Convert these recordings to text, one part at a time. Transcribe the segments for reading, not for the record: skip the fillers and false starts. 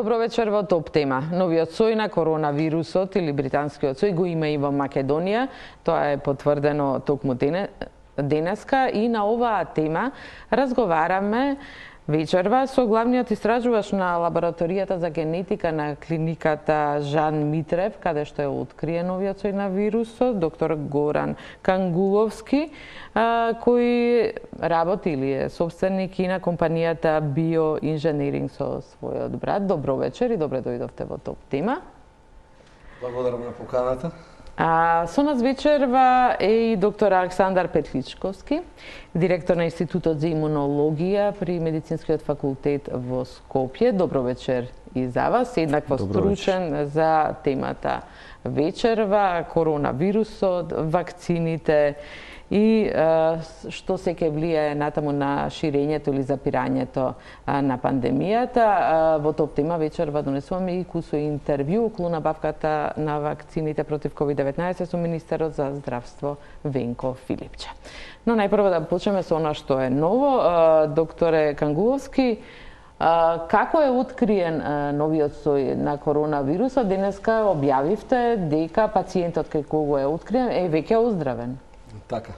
Добро вечер во Топ тема. Новиот сој на коронавирусот или британскиот сој го има и во Македонија. Тоа е потврдено токму денеска и на оваа тема разговараме вечерва со главниот истражувач на лабораторијата за генетика на клиниката Жан Митрев, каде што е откриен новиот сој на вирусот, доктор Горан Кангуловски, кој работи или е собственик и на компанијата Bioengineering со својот брат. Добро вечер и добре дојдовте во Топ тема. Благодарам на поканата. Со нас вечерва е и доктор Александар Петличковски, директор на Институтот за имунологија при Медицинскиот факултет во Скопје. Добро вечер и за вас, еднакво стручен за темата вечерва, коронавирусот, вакцините и што се ќе влијае натаму на ширењето или запирањето на пандемијата. Во Топ тема вечерва донесуваме и кусо интервју околу набавката на вакцините против COVID-19 со министерот за здравство Венко Филипче. Но најпрво да почнеме со она што е ново. Докторе Кангуловски, како е откриен новиот сој на коронавирусот? Денеска објавивте дека пациентот кај кого е откриен е веќе оздравен. Така.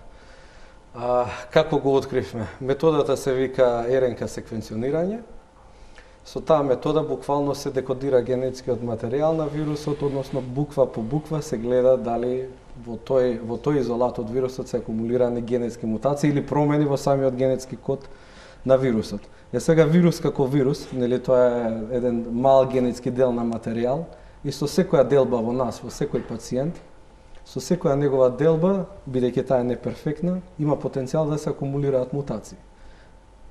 Како го откривме? Методата се вика РНК секвенционирање. Со таа метода буквално се декодира генетскиот материјал на вирусот, односно буква по буква се гледа дали во тој изолат од вирусот се акумулирани генетски мутации или промени во самиот генетски код на вирусот. Сега вирус како вирус, нели, тоа е еден мал генетски дел на материјал и со секоја делба во нас, во секој пациент, со секоја негова делба, бидејќи таа е неперфектна, има потенцијал да се акумулираат мутации.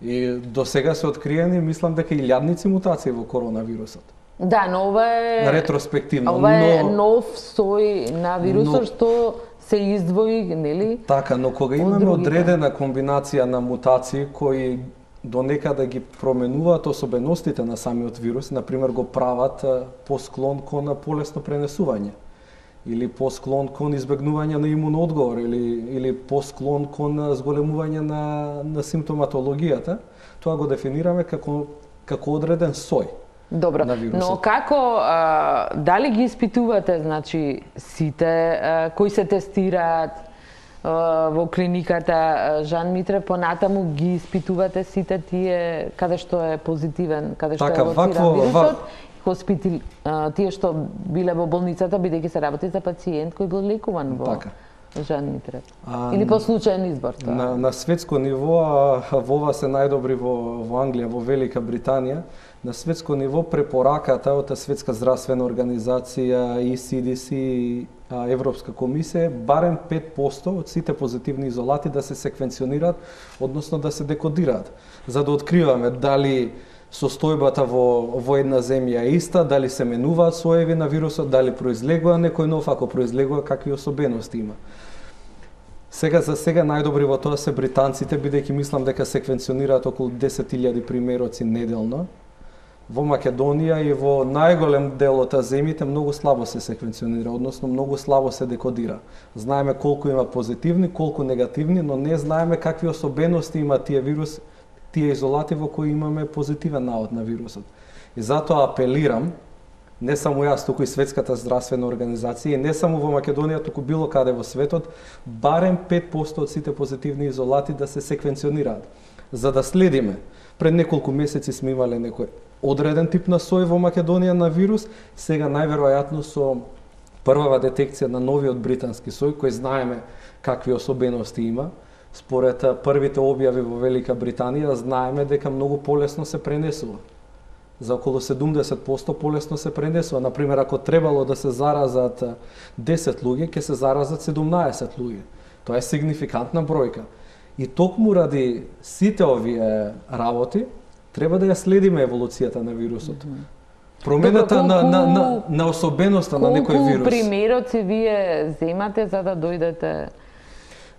И до сега се откриени, мислам дека илјадници мутации во коронавирусот. Да, но ова е ретроспективно. Ова е нов сој на вирусот што се издвои, нели? Така, но кога имаме одредена комбинација на мутации кои до некаде ги променуваат особеностите на самиот вирус, например го прават посклон кон полесно пренесување, или посклон кон избегнување на имуноодговор, или посклон кон зголемување на симптоматологијата, тоа го дефинираме како одреден сој. Добро, но како, дали ги испитувате, значи, сите кои се тестираат во клиниката Жан Митрев, понатаму ги испитувате сите тие каде што е позитивен, каде што е лоциран вирусот, тие што биле во болницата, бидејќи се работи за пациент кој бил лекуван во Жан Митрев. Или по случаен избор тоа? На светско ниво, во ова се најдобри во Англија, во Велика Британија, на светско ниво препораката од Светска здравствена организација и CDC и Европска комисија, барем 5% од сите позитивни изолати да се секвенционираат, односно да се декодираат, за да откриваме дали состојбата во една земја е иста, дали се менуваат соеви на вирусот, дали произлегува некој нов, ако произлегува какви особености има. За сега најдобри во тоа се британците, бидејќи мислам дека секвенционираат околу 10.000 примероци неделно. Во Македонија и во најголем дел од земјите многу слабо се секвенционира, односно многу слабо се декодира. Знаеме колку има позитивни, колку негативни, но не знаеме какви особености има тие изолати во кои имаме позитивен навод на вирусот. И затоа апелирам, не само јас, туку и Светската здравствена организација, и не само во Македонија, туку било каде во светот, барем 5% од сите позитивни изолати да се секвенционираат, за да следиме. Пред неколку месеци сме имале некој одреден тип на сој во Македонија на вирус, сега најверојатно со првава детекција на новиот британски сој, кој знаеме какви особености има, според првите објави во Велика Британија, знаеме дека многу полесно се пренесува. За околу 70% полесно се пренесува. Например, ако требало да се заразат 10 луѓе, ќе се заразат 17 луѓе. Тоа е сигнификантна бројка. И токму ради сите овие работи, треба да ја следиме еволуцијата на вирусот. Промената на особеноста на некој вирус. Колку примероци вие земате за да дојдете?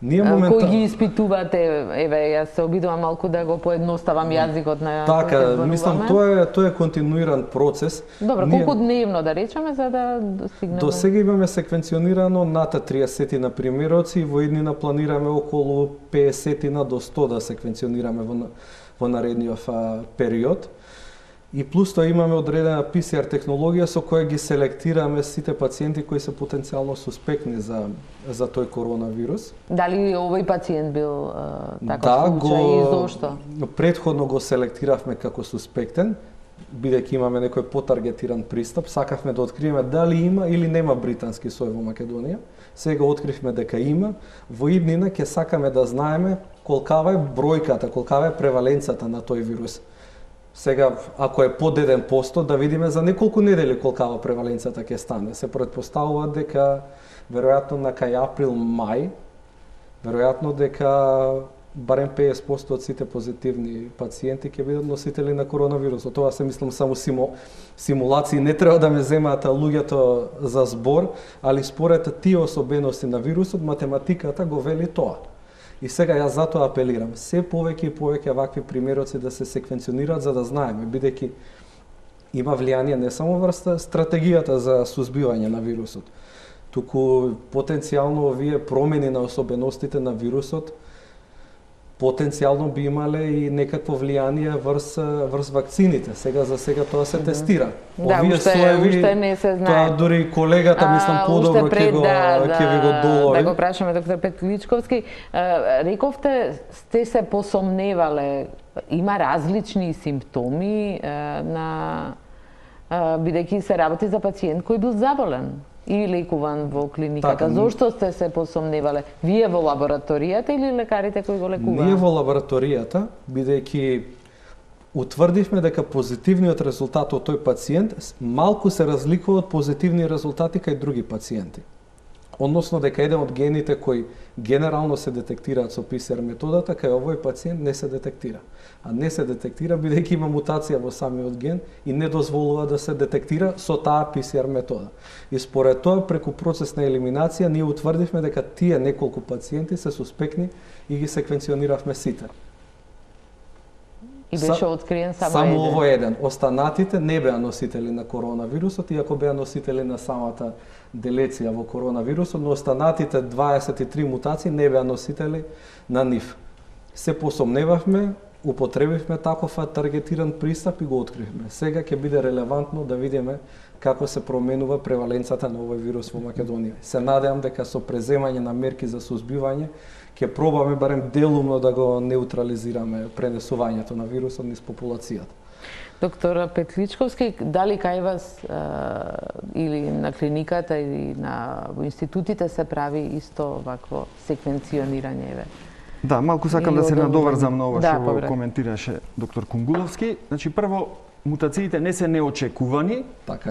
Кои ги испитувате? Еве, јас се обидувам малку да го поедноставам јазикот на Така, мислам, тоа е континуиран процес. Добро, колку дневно да речеме за да достигнеме? До сега имаме секвенционирано над 30 на примероци и во иднина планираме околу 50 до 100 да секвенционираме во наредниот период. И плюс тоа имаме одредена PCR технологија со која ги селектираме сите пациенти кои се потенцијално суспектни за тој коронавирус. Дали овој пациент бил таков случај и зошто? Претходно го селектиравме како суспектен, бидејќи имаме некој потаргетиран пристап, сакавме да откриеме дали има или нема британски сој во Македонија. Сега откривме дека има. Во иднина ќе сакаме да знаеме колкава е бројката, колкава е преваленцата на тој вирус. Сега, ако е под 1%, да видиме за неколку недели колкава преваленцата ќе стане. Се претпоставува дека веројатно на кај април-мај, веројатно дека барем 50% од сите позитивни пациенти ќе бидат носители на коронавирусот. Тоа се мислам само симулации, не треба да ме земаат луѓето за збор, али според тие особености на вирусот, математиката го вели тоа. И сега јас затоа апелирам, се повеќе и повеќе вакви примероци да се секвенционираат за да знаеме, бидејќи има влијание не само врз стратегијата за сузбивање на вирусот, туку потенцијално овие промени на особеностите на вирусот потенцијално би имале и некакво влијание врз вакцините. За сега тоа се тестира. Да, уште не се знае. Тоа дури колегата, мислам, подобро ќе ви го долови. Да го прашаме доктор Петличковски. Рековте, сте се посомневале, има различни симптоми бидејќи се работи за пациент кој бил заболен и лекуван во клиниката. Така, зошто сте се посомневале? Вие во лабораторијата или лекарите кои го лекуваат? Ние во лабораторијата, бидејќи утврдивме дека позитивниот резултат од тој пациент малку се разликува од позитивни резултати кај други пациенти. Односно дека еден од гените кои генерално се детектираат со PCR методата, кај овој пациент не се детектира. А не се детектира бидејќи има мутација во самиот ген и не дозволува да се детектира со таа PCR метода. И според тоа, преку процес на елиминација, ние утврдивме дека тие неколку пациенти се суспектни и ги секвенциониравме сите. И беше откриен само овој еден. Останатите не беа носители на коронавирусот, иако беа носители на самата делеција во коронавирусот, но останатите 23 мутации не беа носители на нив. Се посомневавме, употребивме таков таргетиран пристап и го откривме. Сега ќе биде релевантно да видиме како се променува преваленцата на овој вирус во Македонија. Се надевам дека со преземање на мерки за сузбивање ќе пробаме барем делумно да го неутрализираме пренесувањето на вирусот низ популацијата. Доктор Петличковски, дали кај вас или на клиниката или во институтите се прави исто вакво секвенционирање? Да, малку сакам да се надоврзам на ова што коментираше доктор Кунгуловски. Значи, прво, мутациите не се неочекувани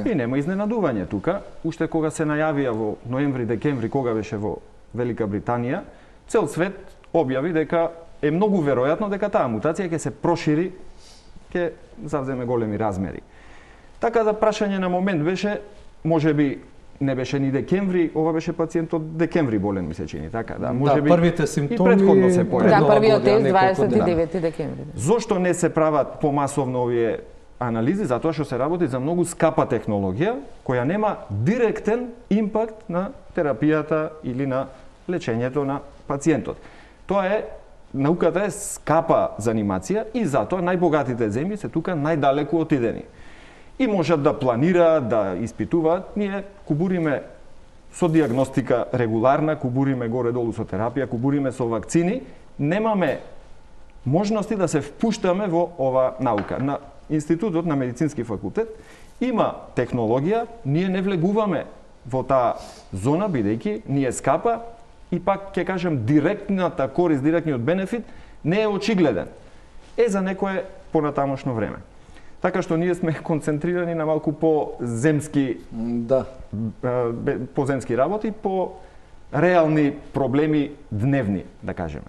и нема изненадување тука. Уште кога се најавија во ноември-декември, кога беше во Велика Британија, цел свет објави дека е многу веројатно дека таа мутација ќе се прошири, ќе завземе големи размери. Така да прашање на момент беше, можеби не беше ни декември, ова беше пациент од декември болен, ми се чини, така да. Можеби првите симптоми и претходно се појавија. Да, првиот тест 29 декември. Зошто не се прават помасовно овие анализи? Затоа што се работи за многу скапа технологија која нема директен импакт на терапијата или на лечењето на пациентот. Тоа е, науката е скапа занимација и затоа најбогатите земји се тука најдалеку отидени. И можат да планираат, да испитуваат. Ние кубуриме со диагностика регуларна, кубуриме горе-долу со терапија, кубуриме со вакцини. Немаме можности да се впуштаме во ова наука. На Институтот на Медицински факултет има технологија, ние не влегуваме во таа зона, бидејќи ни е скапа и пак ќе кажем директната корист, директниот бенефит не е очигледен. За некое понатамошно време. Така што ние сме концентрирани на малку по-земски по-земски работи, по реални проблеми дневни, да кажеме.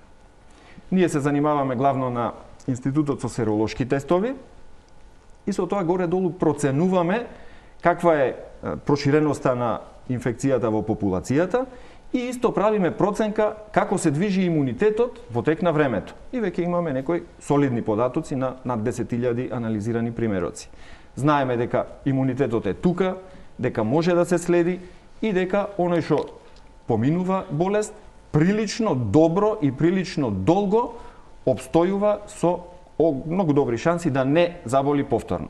Ние се занимаваме главно на Институтот со серолошки тестови и со тоа горе-долу проценуваме каква е проширеноста на инфекцијата во популацијата и исто правиме проценка како се движи имунитетот во тек на времето. И веќе имаме некои солидни податоци на над 10.000 анализирани примероци. Знаеме дека имунитетот е тука, дека може да се следи и дека оној што поминува болест прилично добро и прилично долго обстојува со многу добри шанси да не заболи повторно.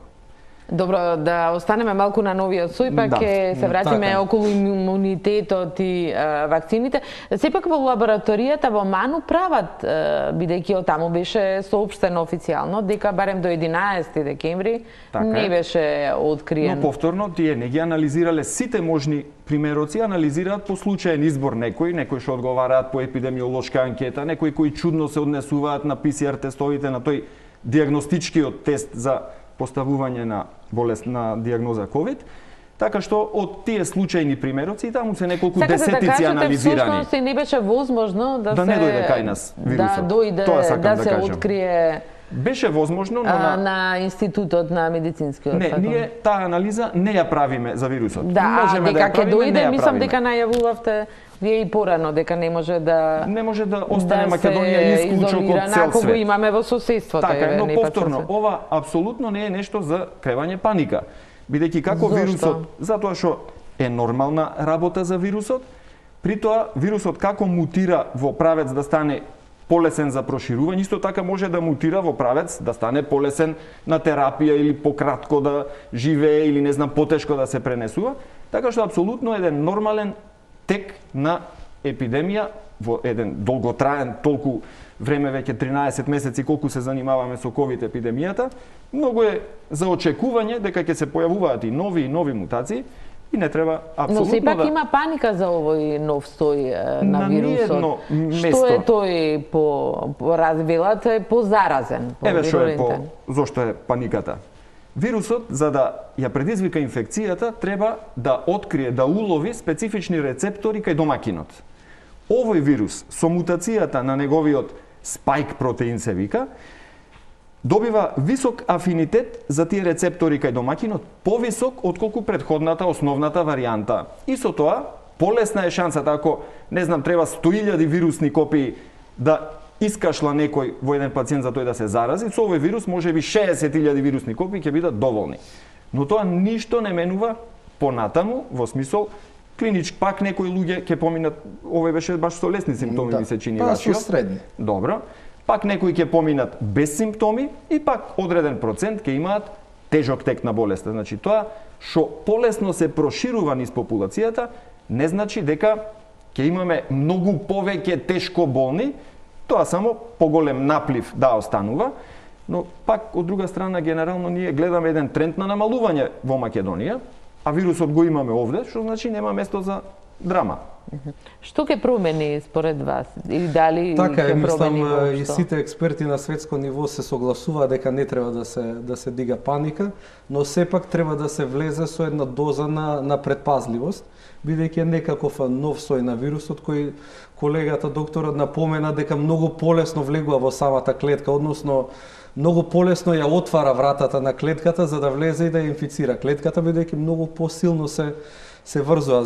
Добро, да останеме малку на новиот сој, па ќе се вратиме околу имунитетот и вакцините. Сепак во лабораторијата во Ману прават, бидејќи од таму беше соопштено официјално дека барем до 11 декември не беше откриен. Но повторно тие не ги анализирале сите можни примероци, анализираат по случаен избор некои што одговараат по епидемиолошка анкета, некои кои чудно се однесуваат на ПСР тестовите, на тој диагностичкиот тест за поставување на болест на диагноза COVID, така што од тие случајни примероци таму се неколку десетици анализирани. Всушност не беше возможно да не дојде кај нас вирусот. Да дојде, да се открие. Беше возможно, но на Институтот на медицинскиот факултет. Не, ние таа анализа не ја правиме за вирусот. Да, дека ќе дојде, мислам дека најавувавте вие и порано дека не може да остане Македонија исклучок од цел свет. Ако имаме во соседството. Така, но повторно, ова апсолутно не е нешто за кревање паника. Бидејќи како вирусот, затоа што е нормална работа за вирусот, при тоа вирусот како мутира во правец да стане полесен за проширување, исто така може да мутира во правец да стане полесен на терапија или пократко да живее или не знам потешко да се пренесува, така што апсолутно еден нормален тек на епидемија во еден долготраен толку време, веќе 13 месеци колку се занимаваме со ковид епидемијата, многу е за очекување дека ќе се појавуваат и нови мутации и не треба апсолутно. Но сепак има паника за овој нов сој на вирусот. Што е тој по развилат е позаразен, по зошто е паниката? Вирусот, за да ја предизвика инфекцијата, треба да открие, да улови специфични рецептори кај домакинот. Овој вирус, со мутацијата на неговиот спајк протеин се вика, добива висок афинитет за тие рецептори кај домакинот, повисок отколку претходната основната варијанта. И со тоа, полесна е шансата ако, не знам, треба 100.000 вирусни копии да искашла некој во еден пациент за тој да се зарази, со овој вирус можеби 60.000 вирусни копии ќе бидат доволни. Но тоа ништо не менува понатаму, во смисол клинички, пак некои луѓе ќе поминат, овој беше баш со лесни симптоми, ми се чини вашиот. Па со средни. Добро. Пак некои ќе поминат без симптоми и пак одреден процент ќе имаат тежок тек на болеста. Значи тоа што полесно се проширува низ популацијата, не значи дека ќе имаме многу повеќе тешко болни, тоа само поголем наплив да останува, но пак од друга страна генерално ние гледаме еден тренд на намалување во Македонија, а вирусот го имаме овде, што значи нема место за драма. Што ќе промени според вас? Или дали така ќе промени воопшто? И сите експерти на светско ниво се согласуваат дека не треба да се дига паника, но сепак треба да се влезе со една доза на предпазливост, бидејќи е некаков нов сој на вирусот кој колегата докторот напомена дека многу полесно влегува во самата клетка, односно многу полесно ја отвара вратата на клетката за да влезе и да ја инфицира клетката, бидејќи многу посилно се врзува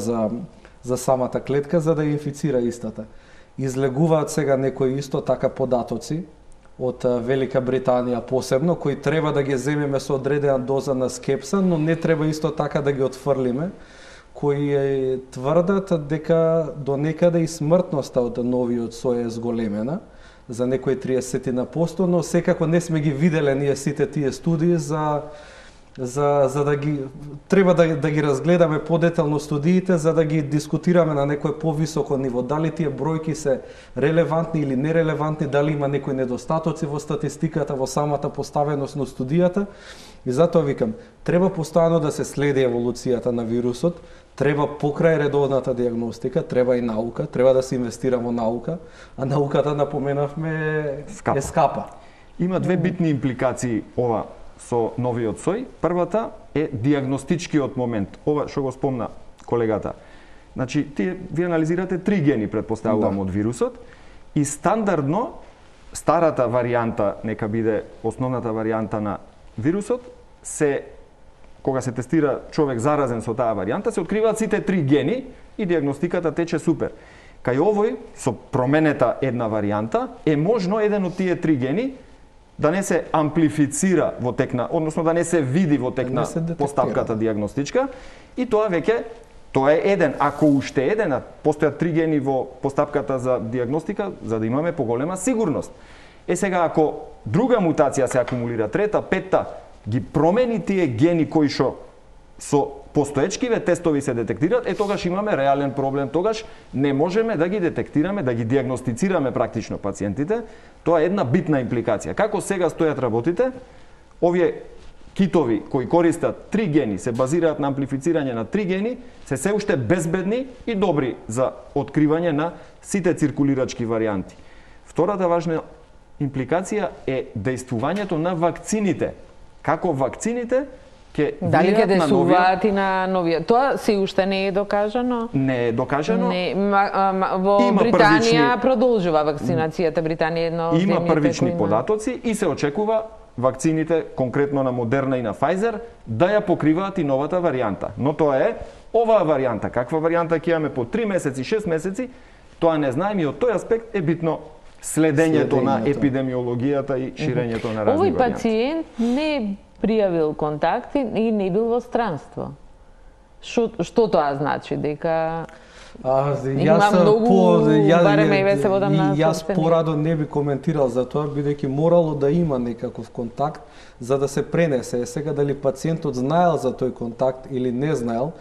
за самата клетка за да ја инфицира истата. Излегуваат сега некои исто така податоци од Велика Британија посебно, кои треба да ги земеме со одредена доза на скепса, но не треба исто така да ги отфрлиме, кои тврдат дека до некаде и смртноста од новиот сој е зголемена за некои 30%, но секако не сме ги виделе ние сите тие студии за да ги треба да ги разгледаме подетално студиите за да ги дискутираме на некое повисоко ниво, дали тие бројки се релевантни или нерелевантни, дали има некои недостатоци во статистиката, во самата поставеност на студијата. И затоа викам, треба постојано да се следи еволуцијата на вирусот, треба покрај редовната диагностика, треба и наука, треба да се инвестира во наука, а науката, напоменавме, е скапа. Има две битни импликации ова со новиот сој. Првата е диагностичкиот момент. Ова што го спомна колегата. Значи, ви анализирате 3 гени, предпоставувам, од вирусот, и стандардно, старата варијанта, нека биде основната варијанта на вирусот, кога се тестира човек заразен со таа варијанта, се откриваат сите 3 гени и диагностиката тече супер. Кај овој, со променета една варијанта, е можно еден од тие 3 гени да не се амплифицира во текна, односно да не се види во текна постапката диагностичка, и тоа веќе, тоа е еден, ако уште еден, постојат 3 гени во постапката за диагностика, за да имаме поголема сигурност. Сега, ако друга мутација се акумулира, трета, петта, ги промени тие гени кои што со постоечкиве тестови се детектираат, тогаш имаме реален проблем, тогаш не можеме да ги детектираме, да ги диагностицираме практично пациентите. Тоа е една битна импликација. Како сега стојат работите, овие китови кои користат 3 гени, се базираат на амплифицирање на 3 гени, се уште безбедни и добри за откривање на сите циркулирачки варијанти. Втората важна импликација е дејствувањето на вакцините. Како вакцините дали ќе действуваат и на новија? Тоа се уште не е докажано? Не е докажано. Не, во Британија продолжува вакцинацијата. Британија е едно од има земјите првични кои податоци и се очекува вакцините, конкретно на Модерна и на Pfizer, да ја покриваат и новата варијанта. Но тоа е оваа варијанта. Каква варијанта ќе имаме по 3 месеци, 6 месеци, тоа не знаеме и од тој аспект е битно следењето на епидемиологијата и ширењето на разни варијанти. Овој пациент не пријавил контакти и не бил во странство. Што тоа значи? Дека Јас порадо не би коментирал за тоа, бидејќи морало да има некаков контакт за да се пренесе. Сега дали пациентот знаел за тој контакт или не знаел,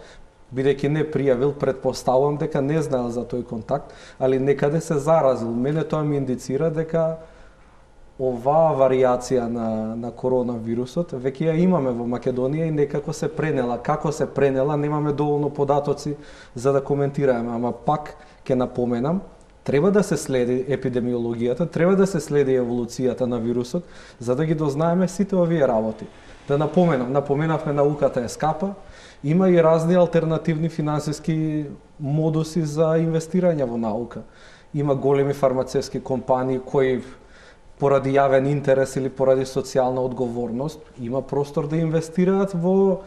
бидејќи не пријавил, претпоставувам дека не знаел за тој контакт, али некаде се заразил. Мене тоа ми индицира дека оваа варијација на коронавирусот веќе ја имаме во Македонија и некако се пренела. Како се пренела, немаме доволно податоци за да коментираме, ама пак ќе напоменам, треба да се следи епидемиологијата, треба да се следи еволуцијата на вирусот, за да ги дознаеме сите овие работи. Да напоменавме науката е скапа, има и разни алтернативни финансиски модуси за инвестирање во наука. Има големи фармацевски компании кои поради јавен интерес или поради социјална одговорност, има простор да инвестираат во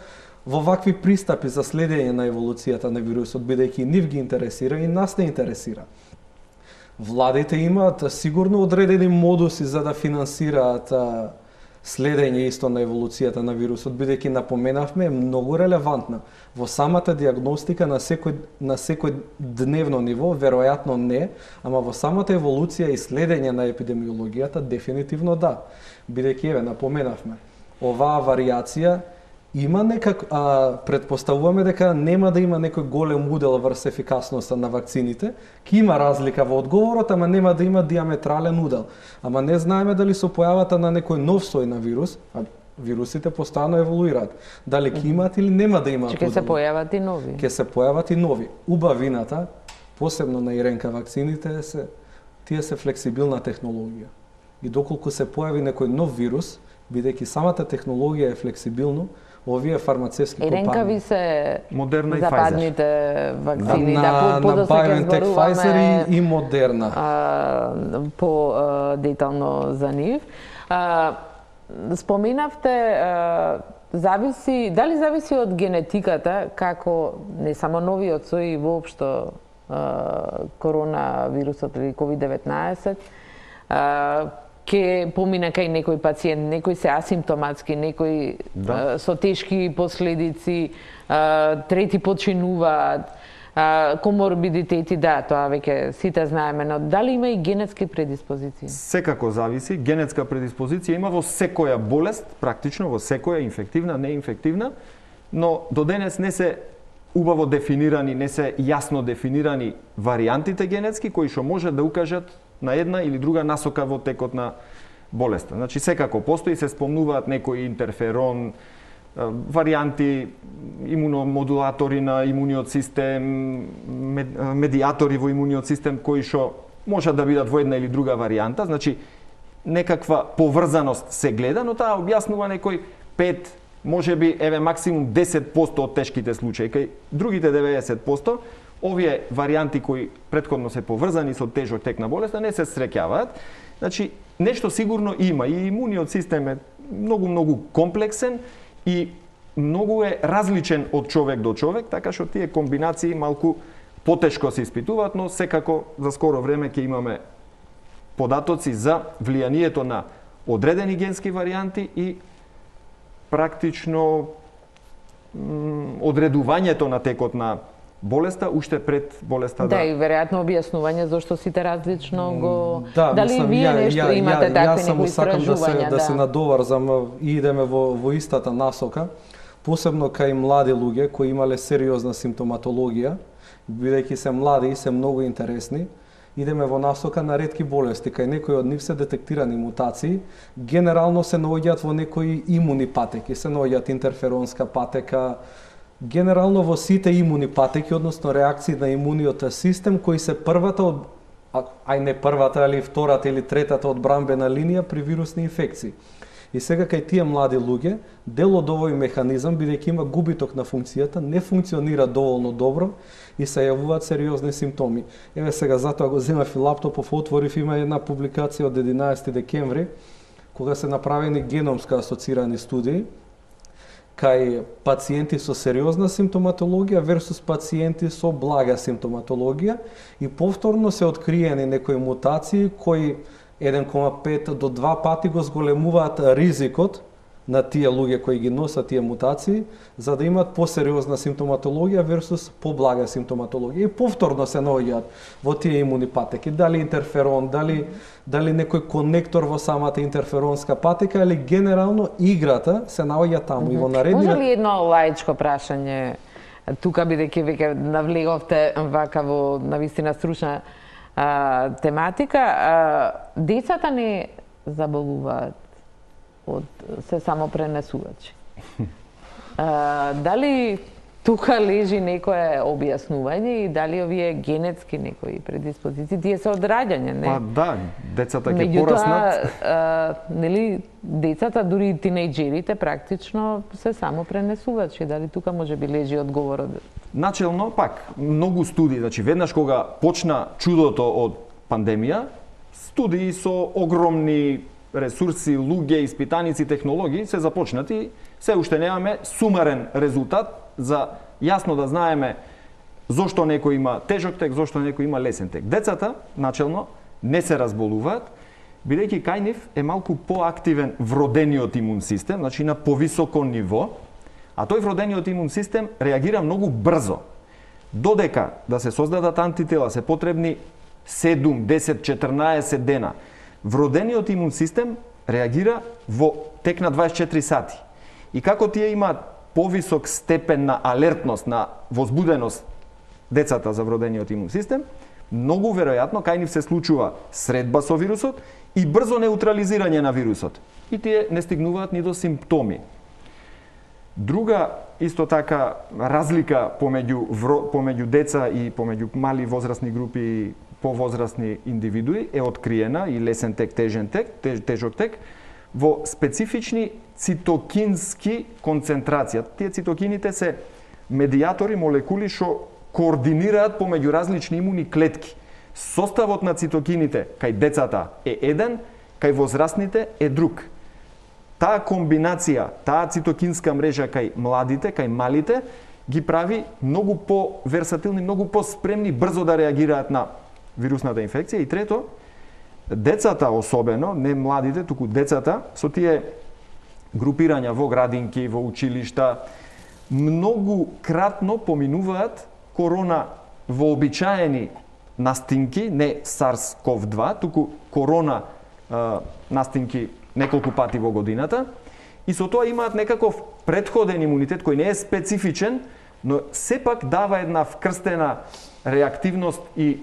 вакви пристапи за следење на еволуцијата на вирусот, бидејќи нив ги интересира и нас не интересира. Владите имаат сигурно одредени модуси за да финансираат следење исто на еволуцијата на вирусот, бидејќи напоменавме е многу релевантна. Во самата диагностика на секој дневно ниво, веројатно не, ама во самата еволуција и следење на епидемиологијата дефинитивно да. Бидејќи еве напоменавме, оваа варијација има предпоставуваме дека нема да има некој голем удел врз ефикасноста на вакцините, ќе има разлика во одговорот, ама нема да има диаметрален удел. Ама не знаеме дали со појавата на некој нов сој на вирус, вирусите постојано еволуираат, дали ќе имаат или нема да имаат удел. Ќе се појават и нови. Ќе се појават и нови. Убавината, посебно на РНК вакцините, тие се флексибилна технологија. И доколку се појави некој нов вирус, бидејќи самата технологија е флексибилно, овие фармацевски компании. РНК ви се Модерна и западните вакцини, на BioNTech, Pfizer и Модерна. По детално за нив. Споменавте, дали зависи од генетиката, како не само новиот сој и воопшто коронавирусот или COVID-19, ќе помине кај некој пациент, некои се асимптоматски, некои со тешки последици, трети починуваат, коморбидитети, да, тоа веќе сите знаеме, но дали има и генетски предиспозиции? Секако зависи, генетска предиспозиција има во секоја болест, практично во секоја инфективна, неинфективна, но до денес не се убаво дефинирани, не се јасно дефинирани варијантите генетски кои што можат да укажат на една или друга насока во текот на болеста. Значи секако постои, се спомнуваат некои интерферон, варијанти, имуномодулатори на имуниот систем, медиатори во имуниот систем кои што можат да бидат во една или друга варијанта, значи некаква поврзаност се гледа, но таа објаснува некој 5, можеби еве максимум 10% од тешките случаи, кај другите 90%, овие варијанти кои претходно се поврзани со тежок тек на болеста не се среќаваат. Значи нешто сигурно има и имуниот систем е многу комплексен и многу е различен од човек до човек, така што тие комбинации малку потешко се испитуваат, но секако за скоро време ќе имаме податоци за влијанието на одредени генски варијанти и практично одредувањето на текот на болеста уште пред болеста Да, и веројатно објаснување зашто сите различно го дали мислам, вие нешто имате такви некои истражувања, да се надоврзам и идеме во истата насока, посебно кај млади луѓе кои имале сериозна симптоматологија, бидејќи се млади и се многу интересни, идеме во насока на ретки болести, кај некои од нив се детектирани мутации, генерално се наоѓаат во некои имуни патеки, се наоѓаат интерферонска патека, генерално во сите имуни патеки, односно реакции на имуниот систем, кои се првата од, ај не првата, али втората или третата одбранбена линија при вирусни инфекции. И сега кај тие млади луѓе, дел од овој механизам, бидејќи има губиток на функцијата, не функционира доволно добро и се јавуваат сериозни симптоми. Еве сега, затоа го земав и лаптопов, отворив, има една публикација од 11 декември, кога се направени геномска асоцирани студии, кај пациенти со сериозна симптоматологија версус пациенти со блага симптоматологија и повторно се откриени некои мутации кои 1,5 до 2 пати го зголемуваат ризикот на тие луѓе кои ги носат тие мутации, за да имаат посериозна симптоматологија версус поблага симптоматологија. И повторно се наоѓаат во тие имуни патеки, дали интерферон, дали некој конектор во самата интерферонска патека, или генерално играта се наоѓа таму. И во наредни... Може ли едно лаичко прашање, тука бидејќи веќе навлеговте вака во навистина стручна тематика, децата не заболуваат се само пренесувачи. Дали тука лежи некое објаснување и дали овие генетски некои предиспозиции, тие се од раѓање, не? Па да, децата ќе пораснат. Нели, децата, дури и тинејџерите, практично се само пренесувачи. Дали тука може би лежи одговорот? Начелно, пак, многу студии, значи веднаш кога почна чудото од пандемија, студии со огромни ресурси, луѓе, испитаници, технологии се започнати, се уште немаме сумарен резултат за јасно да знаеме зошто некој има тежок тек, зошто некој има лесен тек. Децата, начелно, не се разболуваат, бидејќи кај нив е малку поактивен вродениот имун систем, значи на повисоко ниво, а тој вродениот имун систем реагира многу брзо. Додека да се создадат антитела се потребни 7, 10, 14 дена. Вродениот имун систем реагира во тек на 24 сати. И како тие имаат повисок степен на алертност, на возбуденост децата за вродениот имун систем, многу веројатно кај нив се случува средба со вирусот и брзо неутрализирање на вирусот. И тие не стигнуваат ни до симптоми. Друга исто така разлика помеѓу деца и помеѓу мали возрастни групи и повозрастни индивидуи е откриена и лесен тек, тежен тек, тежок тек во специфични цитокински концентрации. Тие цитокините се медијатори, молекули што координираат помеѓу различни имуни клетки. Составот на цитокините кај децата е еден, кај возрастните е друг. Таа комбинација, таа цитокинска мрежа кај младите, кај малите, ги прави многу по-версатилни, многу по-спремни брзо да реагираат на вирусната инфекција. И трето, децата особено, не младите, туку децата, со тие групирања во градинки, во училишта, многу кратно поминуваат корона вообичаени настинки, не SARS-CoV-2, туку корона настинки неколку пати во годината, и со тоа имаат некаков претходен имунитет кој не е специфичен, но сепак дава една вкрстена реактивност и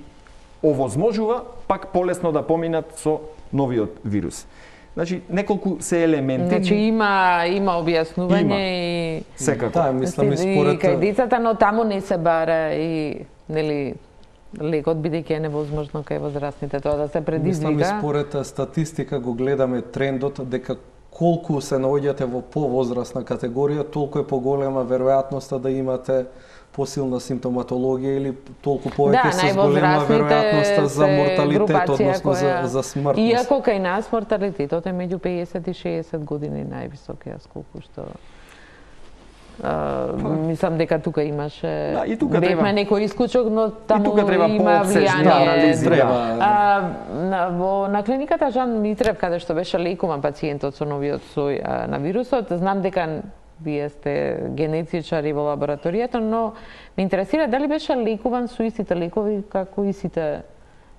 овозможува пак полесно да поминат со новиот вирус. Значи, неколку се елементи. Значи, има објаснување и... Секако. Да, мислам и според... И кај децата, но таму не се бара и, нели, лекот, бидејќи е невозможно кај возрастните тоа да се предизвика. Мислам и според статистика го гледаме трендот дека колку се наоѓате во повозрастна категорија, толку е поголема веројатноста да имате посилна симптоматологија или толку повеќе се зголема веројатноста за морталитет, односно за смртност. Иако кај нас морталитетот е меѓу 50 и 60 години највисок, јас колку што мислам дека тука имаше бевме некој исклучок, но таму има влијание. На клиниката Жан Митрев, каде што беше лекуван пациентот со новиот сој на вирусот, знам дека вие сте генетичари во лабораторијата, но ме интересира дали беше лекуван со истите лекови како и сите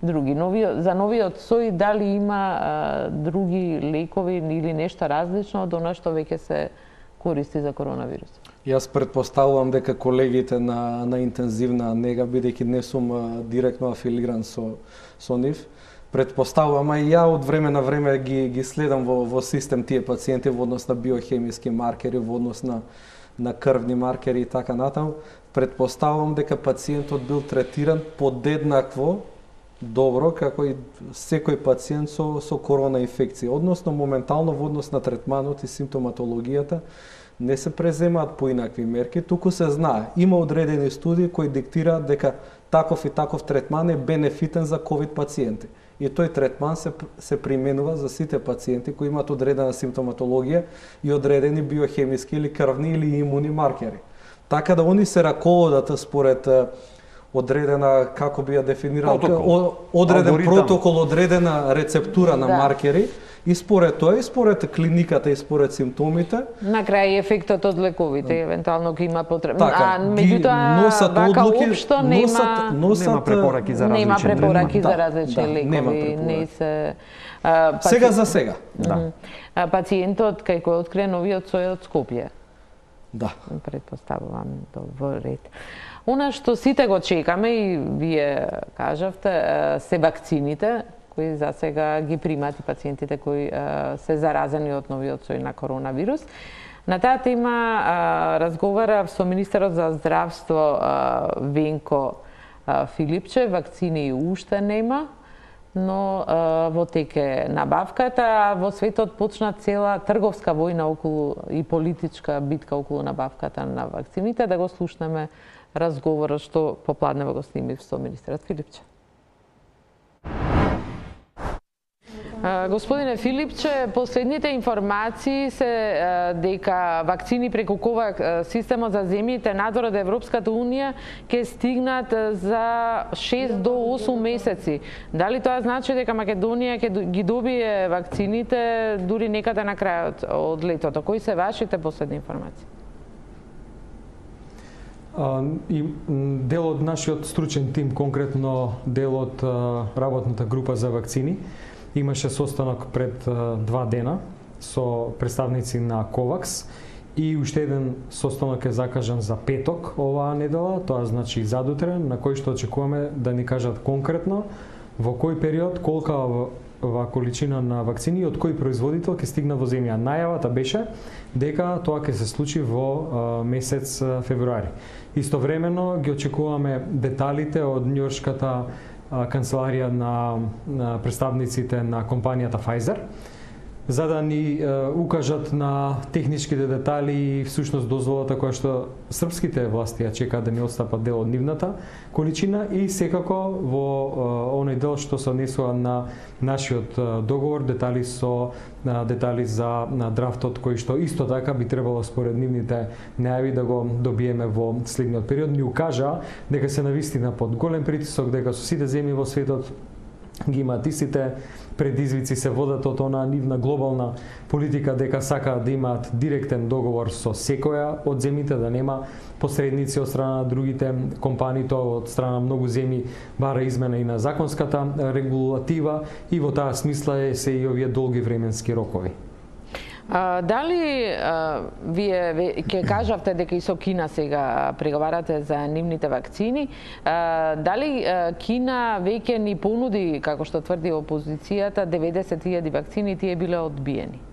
други. За новиот сој дали има други лекови или нешто различно од она што веќе се користи за коронавирус? Јас претпоставувам дека колегите на интензивна нега, бидејќи не сум директно афилиран со нив, претпоставувам, а и ја од време на време ги следам во систем тие пациенти во однос на биохемиски маркери, во однос на крвни маркери и така натаму. Претпоставувам дека пациентот бил третиран подеднакво добро како и секој пациент со корона инфекција. Односно, моментално во однос на третманот и симптоматологијата не се преземаат поинакви мерки, туку се знае. Има одредени студии кои диктираат дека таков и таков третман е бенефитен за ковид пациенти. И тој третман се применува за сите пациенти кои имаат одредена симптоматологија и одредени биохемиски или крвни или имуни маркери. Така да они се раководат според одредена, како би ја дефинирал, одреден протокол, одредена рецептура на маркери, и според тоа, и според клиниката, и според симптомите. На крај ефектот од лековите, евентуално ќе има потреба. Така, меѓутоа, вака општо нема препораки за различни. Нема препораки за различни лекови. Не се... Сега за сега. Пациентот кај кој открие новиот сој од Скопје. Да. Предпоставувам во ред. Она што сите го чекаме и вие кажавте, се вакцините, кои за сега ги примат и пациентите кои се заразени од новиот сој на коронавирус. На таа тема разговарав со министерот за здравство Венко Филипче. Вакцини уште нема, но во тек е набавката. Во светот почна цела трговска војна околу и политичка битка околу набавката на вакцините. Да го слушнеме разговорот што попладнево го снимив со министерот Филипче. Господине Филипче, последните информации се дека вакцини преку КОВАКС системот за земјите надвор од Европската Унија ќе стигнат за 6 до 8 месеци. Дали тоа значи дека Македонија ќе ги добие вакцините дури некаде на крајот од летото? Кои се вашите последни информации? Дел од нашиот стручен тим, конкретно дел од работната група за вакцини, имаше состанок пред 2 дена со представници на КОВАКС и уште еден состанок е закажан за петок оваа недела, тоа значи задутре, на кој што очекуваме да ни кажат конкретно во кој период, колка количина на вакцини од кој производител ќе стигна во земја. Најавата беше дека тоа ќе се случи во месец февруари. Истовремено ги очекуваме деталите од њујоршката канцеларија на представниците на компанијата Pfizer, за да ни укажат на техничките детали и всушност дозволата која што српските власти ја чекаат да ни отстапат дел од нивната количина и секако во оној дел што се однесува на нашиот договор, детали за драфтот кој што исто така би требало според нивните најави да го добиеме во следниот период. Ни укажа дека се навистина под голем притисок, дека со сите земји во светот ги имаат истите предизвици, се водат од онаа нивна глобална политика дека сакаат да имаат директен договор со секоја од земјите, да нема посредници од страна на другите компании, тоа од страна на многу земји бара измена и на законската регулатива и во таа смисла се и овие долги временски рокови. Дали вие ќе кажавте дека и со Кина сега преговарате за нивните вакцини, дали Кина веќе ни понуди, како што тврди опозицијата, 90.000 вакцини, тие биле одбиени?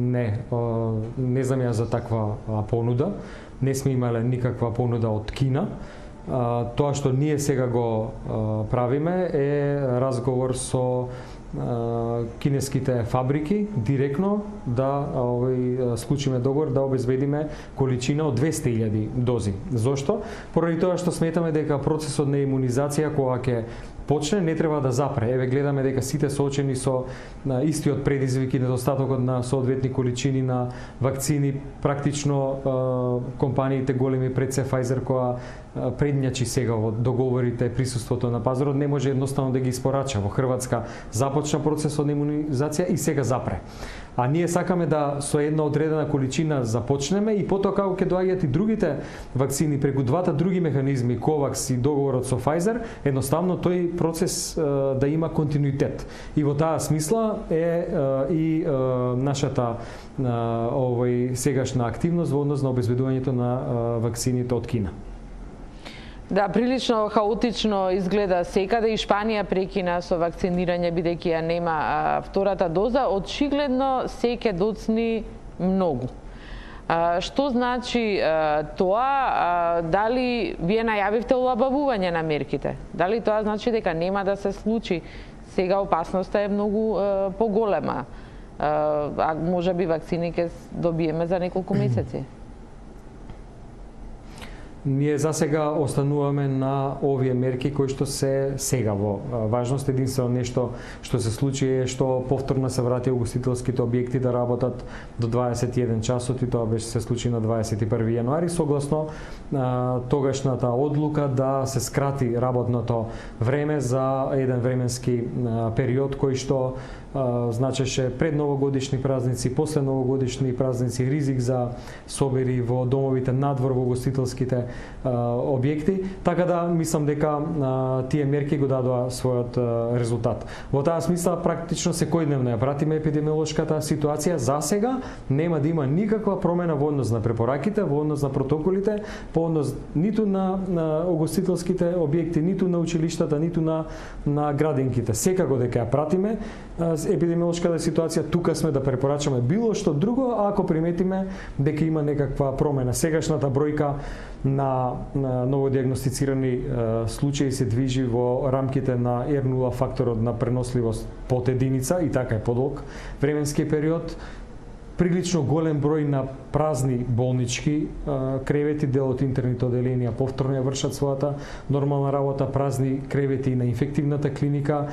Не знам ја за таква понуда. Не сме имале никаква понуда од Кина. Тоа што ние сега го правиме е разговор со кинеските фабрики директно да склучиме договор да обезбедиме количина од 200.000 дози. Зошто? Поради тоа што сметаме дека процесот на имунизација кога ќе почне, не треба да запре. Еве гледаме дека сите соочени со истиот предизвик и недостатокот на соодветни количини на вакцини, практично компаниите големи пред се Pfizer која предњачи сега во договорите присуството на пазарот, не може едноставно да ги испорача. Во Хрватска започна процесот на имунизација и сега запре. А ние сакаме да со една одредена количина започнеме и потоа како ќе доаѓаат и другите вакцини преку двата други механизми, COVAX и договорот со Pfizer, едноставно тој процес да има континуитет. И во таа смисла е и нашата сегашна активност во однос на обезбедувањето на вакцините од Кина. Да, прилично хаотично изгледа секаде и Шпанија прекина со вакцинирање бидејќи ја нема втората доза, очигледно се ќе доцни многу. Што значи тоа? Дали вие најавивте олабавување на мерките? Дали тоа значи дека нема да се случи? Сега опасноста е многу поголема. А може би вакцини ќе добиеме за неколку месеци. Ние за сега остануваме на овие мерки кои што се сега во важност. Единствено нешто што се случи е што повторно се врати угостителските објекти да работат до 21 часот и тоа беше се случи на 21 јануари согласно тогашната одлука да се скрати работното време за еден временски период кој што значеше пред новогодишни празници, после новогодишни празници, ризик за собери во домовите надвор во гостителските објекти, така да мислам дека тие мерки го дадоа својот резултат. Во таа смисла практично секојдневно ја пратиме епидемиолошката ситуација. За сега нема да има никаква промена во однос на препораките, во однос на протоколите, по однос ниту на угостителските објекти, ниту на училиштата, ниту на градинките. Секако дека ја пратиме епидемиолошката ситуација, тука сме да препорачаме било што друго ако приметиме дека има некаква промена. Сегашната бројка на новодиагностицирани случаи се движи во рамките на R0 факторот на преносливост под единица и така е подолг временски период. Прилично голем број на празни болнички кревети, дел од интерните оделенија повторно ја вршат својата нормална работа, празни кревети на инфективната клиника,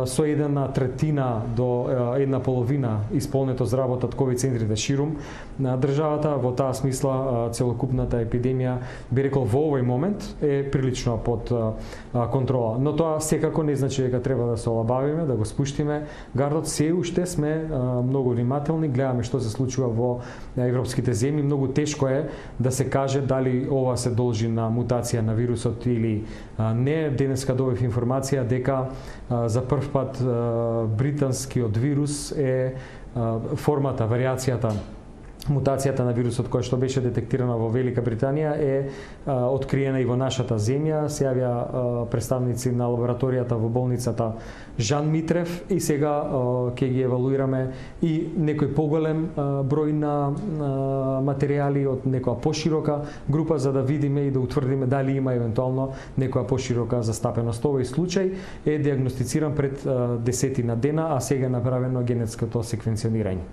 со една третина до една половина исполнето за работа од ковид центрите ширум на државата. Во таа смисла целокупната епидемија, би рекол во овој момент, е прилично под контрола. Но тоа секако не значи дека треба да се олабавиме, да го спуштиме гардот. Се уште сме многу внимателни, гледаме што се случува во европските земји. Многу тешко е да се каже дали ова се должи на мутација на вирусот или не. Денеска добив информација дека за прв пат британскиот вирус е формата, варијацијата, мутацијата на вирусот која што беше детектирана во Велика Британија е откриена и во нашата земја. Се јавија представници на лабораторијата во болницата Жан Митрев и сега ќе ги евалуираме и некој поголем број на материјали од некоја поширока група за да видиме и да утврдиме дали има евентуално некоја поширока застапеност. Овој случај е диагностициран пред 10 на дена, а сега е направено генетското секвенционирање.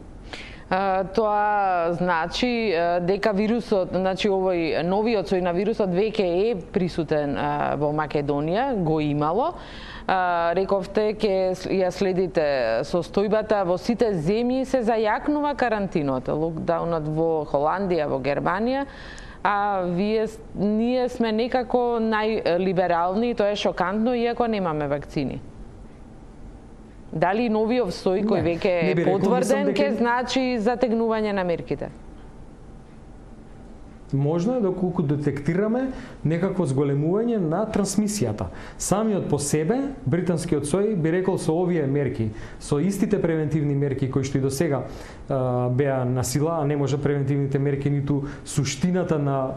Тоа значи дека вирусот, значи овој новиот сој на вирусот веќе е присутен во Македонија, го имало. Рековте ќе ја следите состојбата во сите земји, се зајакнува карантинот, локдаунот во Холандија, во Германија, а ние сме некако најлиберални и тоа е шокантно иако немаме вакцини. Дали новиот сој кој веќе е потврден ќе значи затегнување на мерките? Можно е доколку детектираме некакво зголемување на трансмисијата. Самиот по себе британскиот сој би рекол со овие мерки, со истите превентивни мерки кои што и до сега беа на сила, а не може превентивните мерки ниту суштината на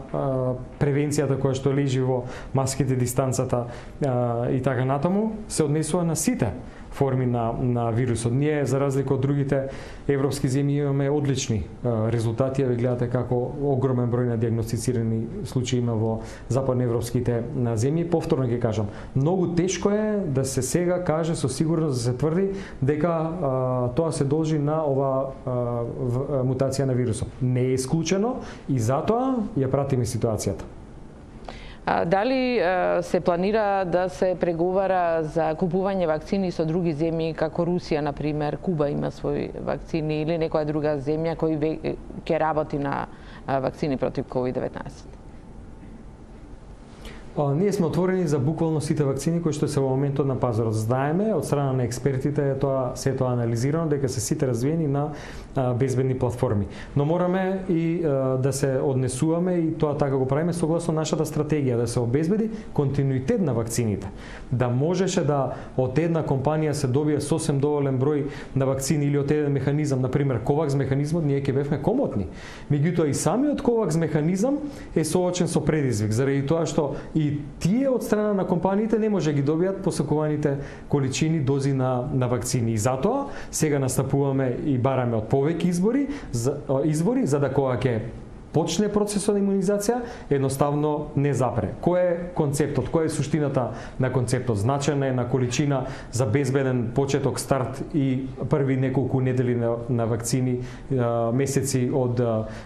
превенцијата која што лежи во маските, дистанцата и така натаму, се однесува на сите форми на вирусот. Ние, за разлика од другите европски земји, имаме одлични резултати. Ве гледате како огромен број на диагностицирани случаи има во западноевропските земји. Повторно ќе кажам, многу тешко е да се сега каже со сигурност, да се тврди дека тоа се должи на ова мутација на вирусот. Не е исклучено и затоа ја пратиме ситуацијата. Дали се планира да се преговара за купување вакцини со други земји, како Русија, например, Куба има свои вакцини, или некоја друга земја кој ќе работи на вакцини против COVID-19? Ние сме отворени за буквално сите вакцини кои што се во моментот на пазарот. Знаеме од страна на експертите се тоа анализирано дека се сите развиени на безбедни платформи. Но мораме и да се однесуваме и тоа така го правиме согласно нашата стратегија, да се обезбеди континуитет на вакцините. Да можеше да од една компанија се добие сосем доволен број на вакцини или од еден механизам, например COVAX механизмот, ние ќе бевме комотни. Меѓутоа и самиот COVAX механизам е соочен со предизвик, заради тоа што и тие од страна на компаниите не може ги добијат посакуваните количини дози на вакцини. И затоа сега настапуваме и бараме од повеќе избори за да кога ќе почне процесот на имунизација, едноставно не запре. Кој е концептот, која е суштината на концептот? Значајна е на количина за безбеден почеток, старт и први неколку недели на вакцини, месеци од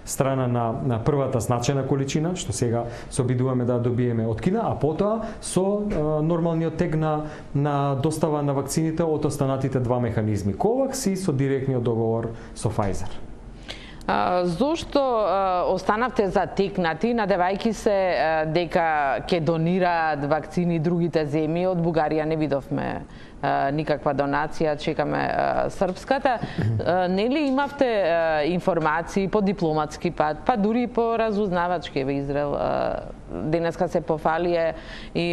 страна на првата значајна количина, што сега се обидуваме да добиеме од Кина, а потоа со нормалниот тек на достава на вакцините од останатите два механизми, COVAX и со директниот договор со Pfizer. Зошто останавте затекнати, надевајќи се дека ќе донираат вакцини другите земји? Од Бугарија не видовме никаква донација, чекаме српската. Нели имавте информации по дипломатски пат, па дури по разузнавачки во Израел? Денеска се пофалие и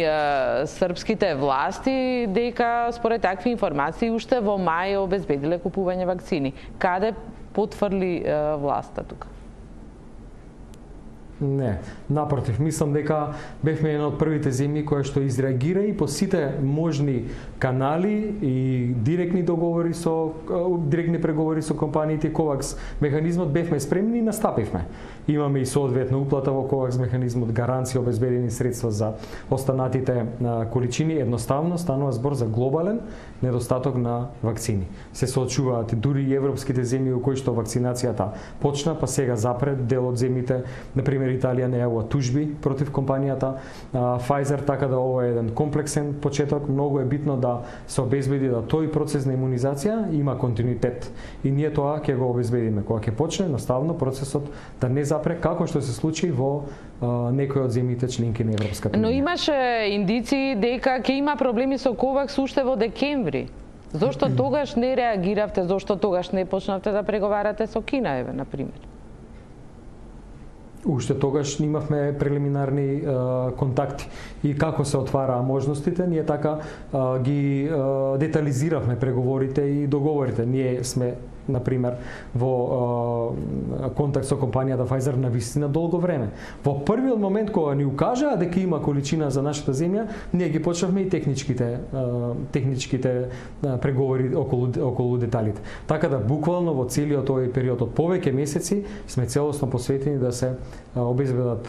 српските власти дека според такви информации уште во мај обезбедиле купување вакцини. Каде потврли власта тука? Не, напротив, мислам дека бевме една од првите земји која што изреагира и по сите можни канали и директни преговори со компаниите COVAX механизмот бевме спремни и настапивме. Имаме и соодветна уплата во COVAX механизмот, гаранција, обезбедени средства за останатите количини. Едноставно станува збор за глобален недостаток на вакцини. Се соочуваат дури и европските земји во кои што вакцинацијата почна, па сега запред дел од земјите, например Италија најавува тужби против компанијата Pfizer, така да ова е еден комплексен почеток. Многу е битно да се обезбеди да тој процес на имунизација има континуитет. И ние тоа ќе го обезбедиме кога ќе почне наставно процесот да не запре, како што се случи во некои од земјите членки на Европската унија. Но имаше индици дека ќе има проблеми со COVAX уште во декември. Зошто тогаш не реагиравте? Зошто тогаш не почнавте да преговарате со Кина, еве, на пример? Уште тогаш имавме прелиминарни контакти и како се отвараа можностите, ние така ги детализиравме преговорите и договорите. Ние сме, например, во контакт со компанијата Pfizer на вистина долго време. Во првиот момент кога ни укажаа дека има количина за нашата земја, ние ги почнавме и техничките преговори околу деталите. Така да буквално во целиот овој период од повеќе месеци сме целосно посветени да се обезбедат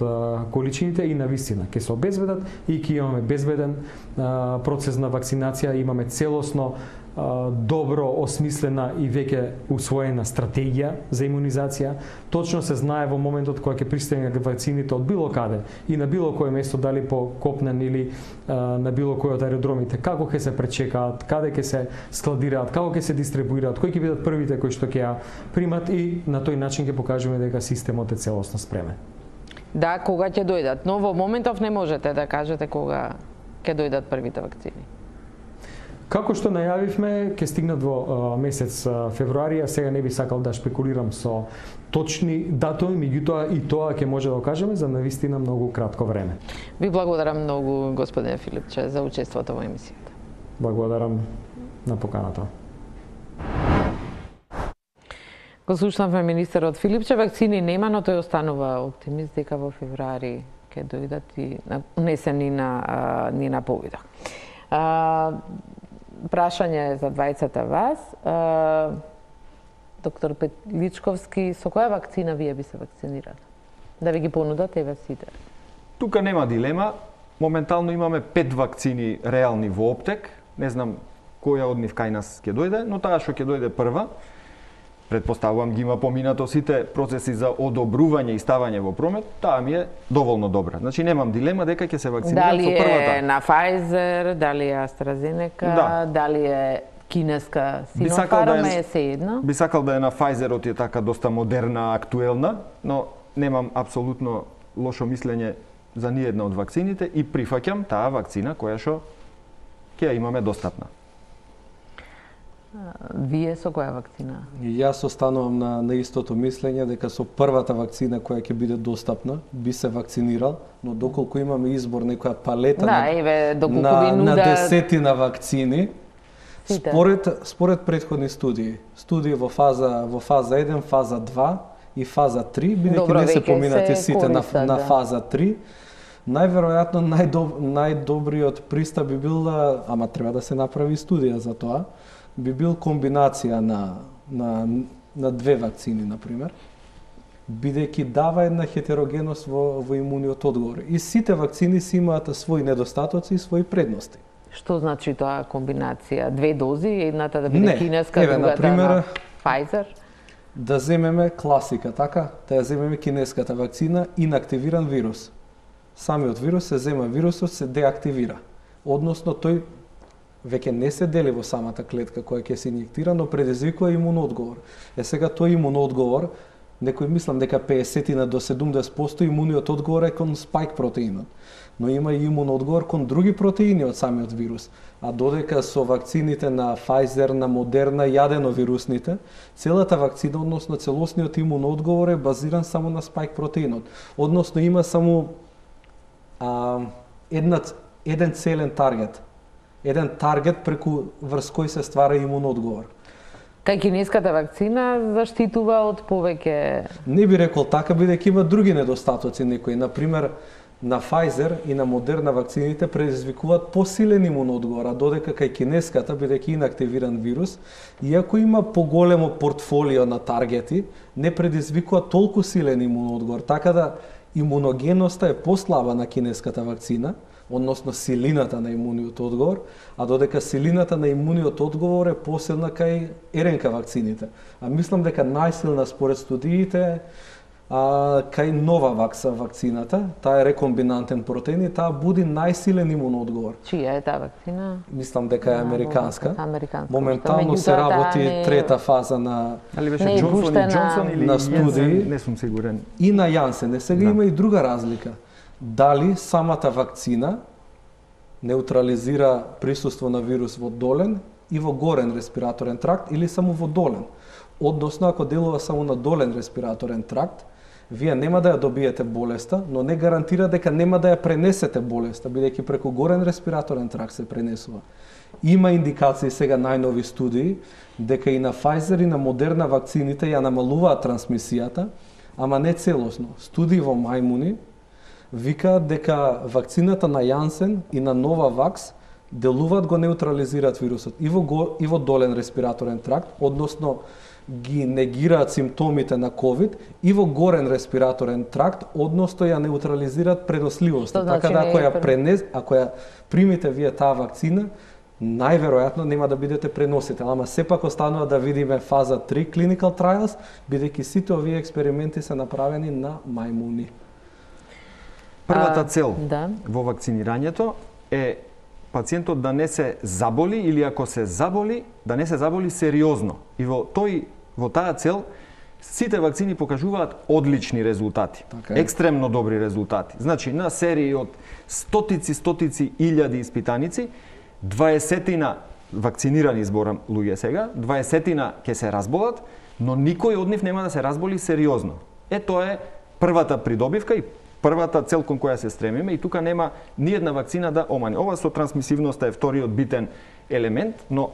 количините и на вистина ќе се обезбедат и ќе имаме безбеден процес на вакцинација, имаме целосно добро осмислена и веќе усвоена стратегија за имунизација. Точно се знае во моментот кога ќе пристигнат вакцините од било каде и на било кое место, дали по копнен или на било кој од аеродромите, како ќе се пречекаат, каде ќе се складираат, како ќе се дистрибуираат, кои ќе бидат првите кои што ќе ја примат и на тој начин ќе покажеме дека системот е целосно спремен. Да, кога ќе дојдат, но во моментов не можете да кажете кога ќе дојдат првите вакцини. Како што најавивме, ќе стигнат во месец февруари, а сега не би сакал да шпекулирам со точни датуми, меѓутоа и тоа ќе може да кажеме за навистина многу кратко време. Ви благодарам многу, господине Филипче, за учеството во емисијата. Благодарам на поканата. Го слушнавме министерот Филипче, вакцини нема, но тој останува оптимист дека во февруари ќе дојдат и унесен ни на повидок. Прашање за двајцата вас. Доктор Петличковски, со која вакцина вие би се вакцинирали? Да ви ги понудат еве сите. Тука нема дилема. Моментално имаме 5 вакцини реални во оптек. Не знам која од нив кај нас ќе дојде, но таа што ќе дојде прва, предпоставувам ги има поминато сите процеси за одобрување и ставање во промет, таа ми е доволно добра. Значи немам дилема дека ќе се вакцинирам со првата. Дали е на Pfizer, дали е AstraZeneca, дали е кинеска Sinopharm, е sejedno? Би сакал да е на Pfizer-от, е така доста модерна, актуелна, но немам апсолутно лошо мислење за ниедна од вакцините и прифаќам таа вакцина која што ќе ја имаме достапна. Вие со која вакцина? Јас останувам на истото мислење дека со првата вакцина која ќе биде достапна би се вакцинирал, но доколку имаме избор некоја палета на десетина вакцини, според претходни студии во фаза 1, фаза 2 и фаза 3, бидејќи не се поминати сите на фаза 3, најверојатно најдобриот пристап би бил, ама треба да се направи студија за тоа, би бил комбинација на две вакцини, например, бидејќи дава една хетерогеност во имуниот одговор. И сите вакцини си имаат своји недостатоци и своји предности. Што значи тоа комбинација? Две дози, едната да биде кинеска, другата например, на Pfizer? Да земеме класика, така? Да ја земеме кинеската вакцина, инактивиран вирус. Самиот вирус се зема, вирусот се деактивира. Односно, тој веќе не се дели во самата клетка која ќе се инјектира, но предизвикува имуноодговор. Сега тој имуноодговор, некој мислам дека 50 до 70% имуниот одговор е кон спајк протеинот, но има и имуноодговор кон други протеини од самиот вирус. А додека со вакцините на Pfizer, на Moderna и аденовирусните, целата вакцина, односно целосниот имуноодговор е базиран само на спајк протеинот. Односно има само еден целен таргет. Еден таргет преку врз кој се ствара имуноодговор. Кај кинеската вакцина заштитува од повеќе... Не би рекол така, бидејќи има други недостатоци некои. Например, на Pfizer и на Moderna вакцините предизвикуваат посилен имуноодговор, а додека кај кинеската, бидејќи инактивиран вирус, иако има поголемо портфолио на таргети, не предизвикува толку силен имуноодговор. Така да имуногеноста е послаба на кинеската вакцина, односно силината на имуниот одговор, а додека силината на имуниот одговор е посилна кај РНК вакцините. А мислам дека најсилна според студиите кај Novavax вакцината, таа е рекомбинантен протеин и таа буди најсилен имуноодговор. Чија е таа вакцина? Мислам дека е американска. Американска. Моментално се работи трета фаза на Джонсон или на студии, не сум сигурен. И на Јансен. Сега има и друга разлика. Дали самата вакцина неутрализира присуство на вирус во долен и во горен респираторен тракт или само во долен. Односно, ако делува само на долен респираторен тракт, вие нема да ја добиете болеста, но не гарантира дека нема да ја пренесете болеста, бидејќи преку горен респираторен тракт се пренесува. Има индикации сега најнови студии дека и на Pfizer и на Moderna вакцините ја намалуваат трансмисијата, ама не целосно. Студии во мајмуни викаат дека вакцината на Janssen и на Novavax делуваат го неутрализираат вирусот и во долен респираторен тракт, односно ги негираат симптомите на COVID и во горен респираторен тракт, односно ја неутрализираат преносливоста. Така да ако ја примите вие таа вакцина, најверојатно нема да бидете преносител, ама сепак останува да видиме фаза 3 clinical trials, бидејќи сите овие експерименти се направени на мајмуни. Првата цел во вакцинирањето е пациентот да не се заболи или ако се заболи, да не се заболи сериозно. И во таа цел сите вакцини покажуваат одлични резултати, екстремно добри резултати. Значи на серии од стотици илјади испитаници, 20-тина вакцинирани зборам луѓе сега, 20-тина ќе се разболат, но никој од нив нема да се разболи сериозно. Тоа е првата придобивка и првата цел кон која се стремиме и тука нема ниедна вакцина да омане. Ова со трансмисивноста е вториот битен елемент, но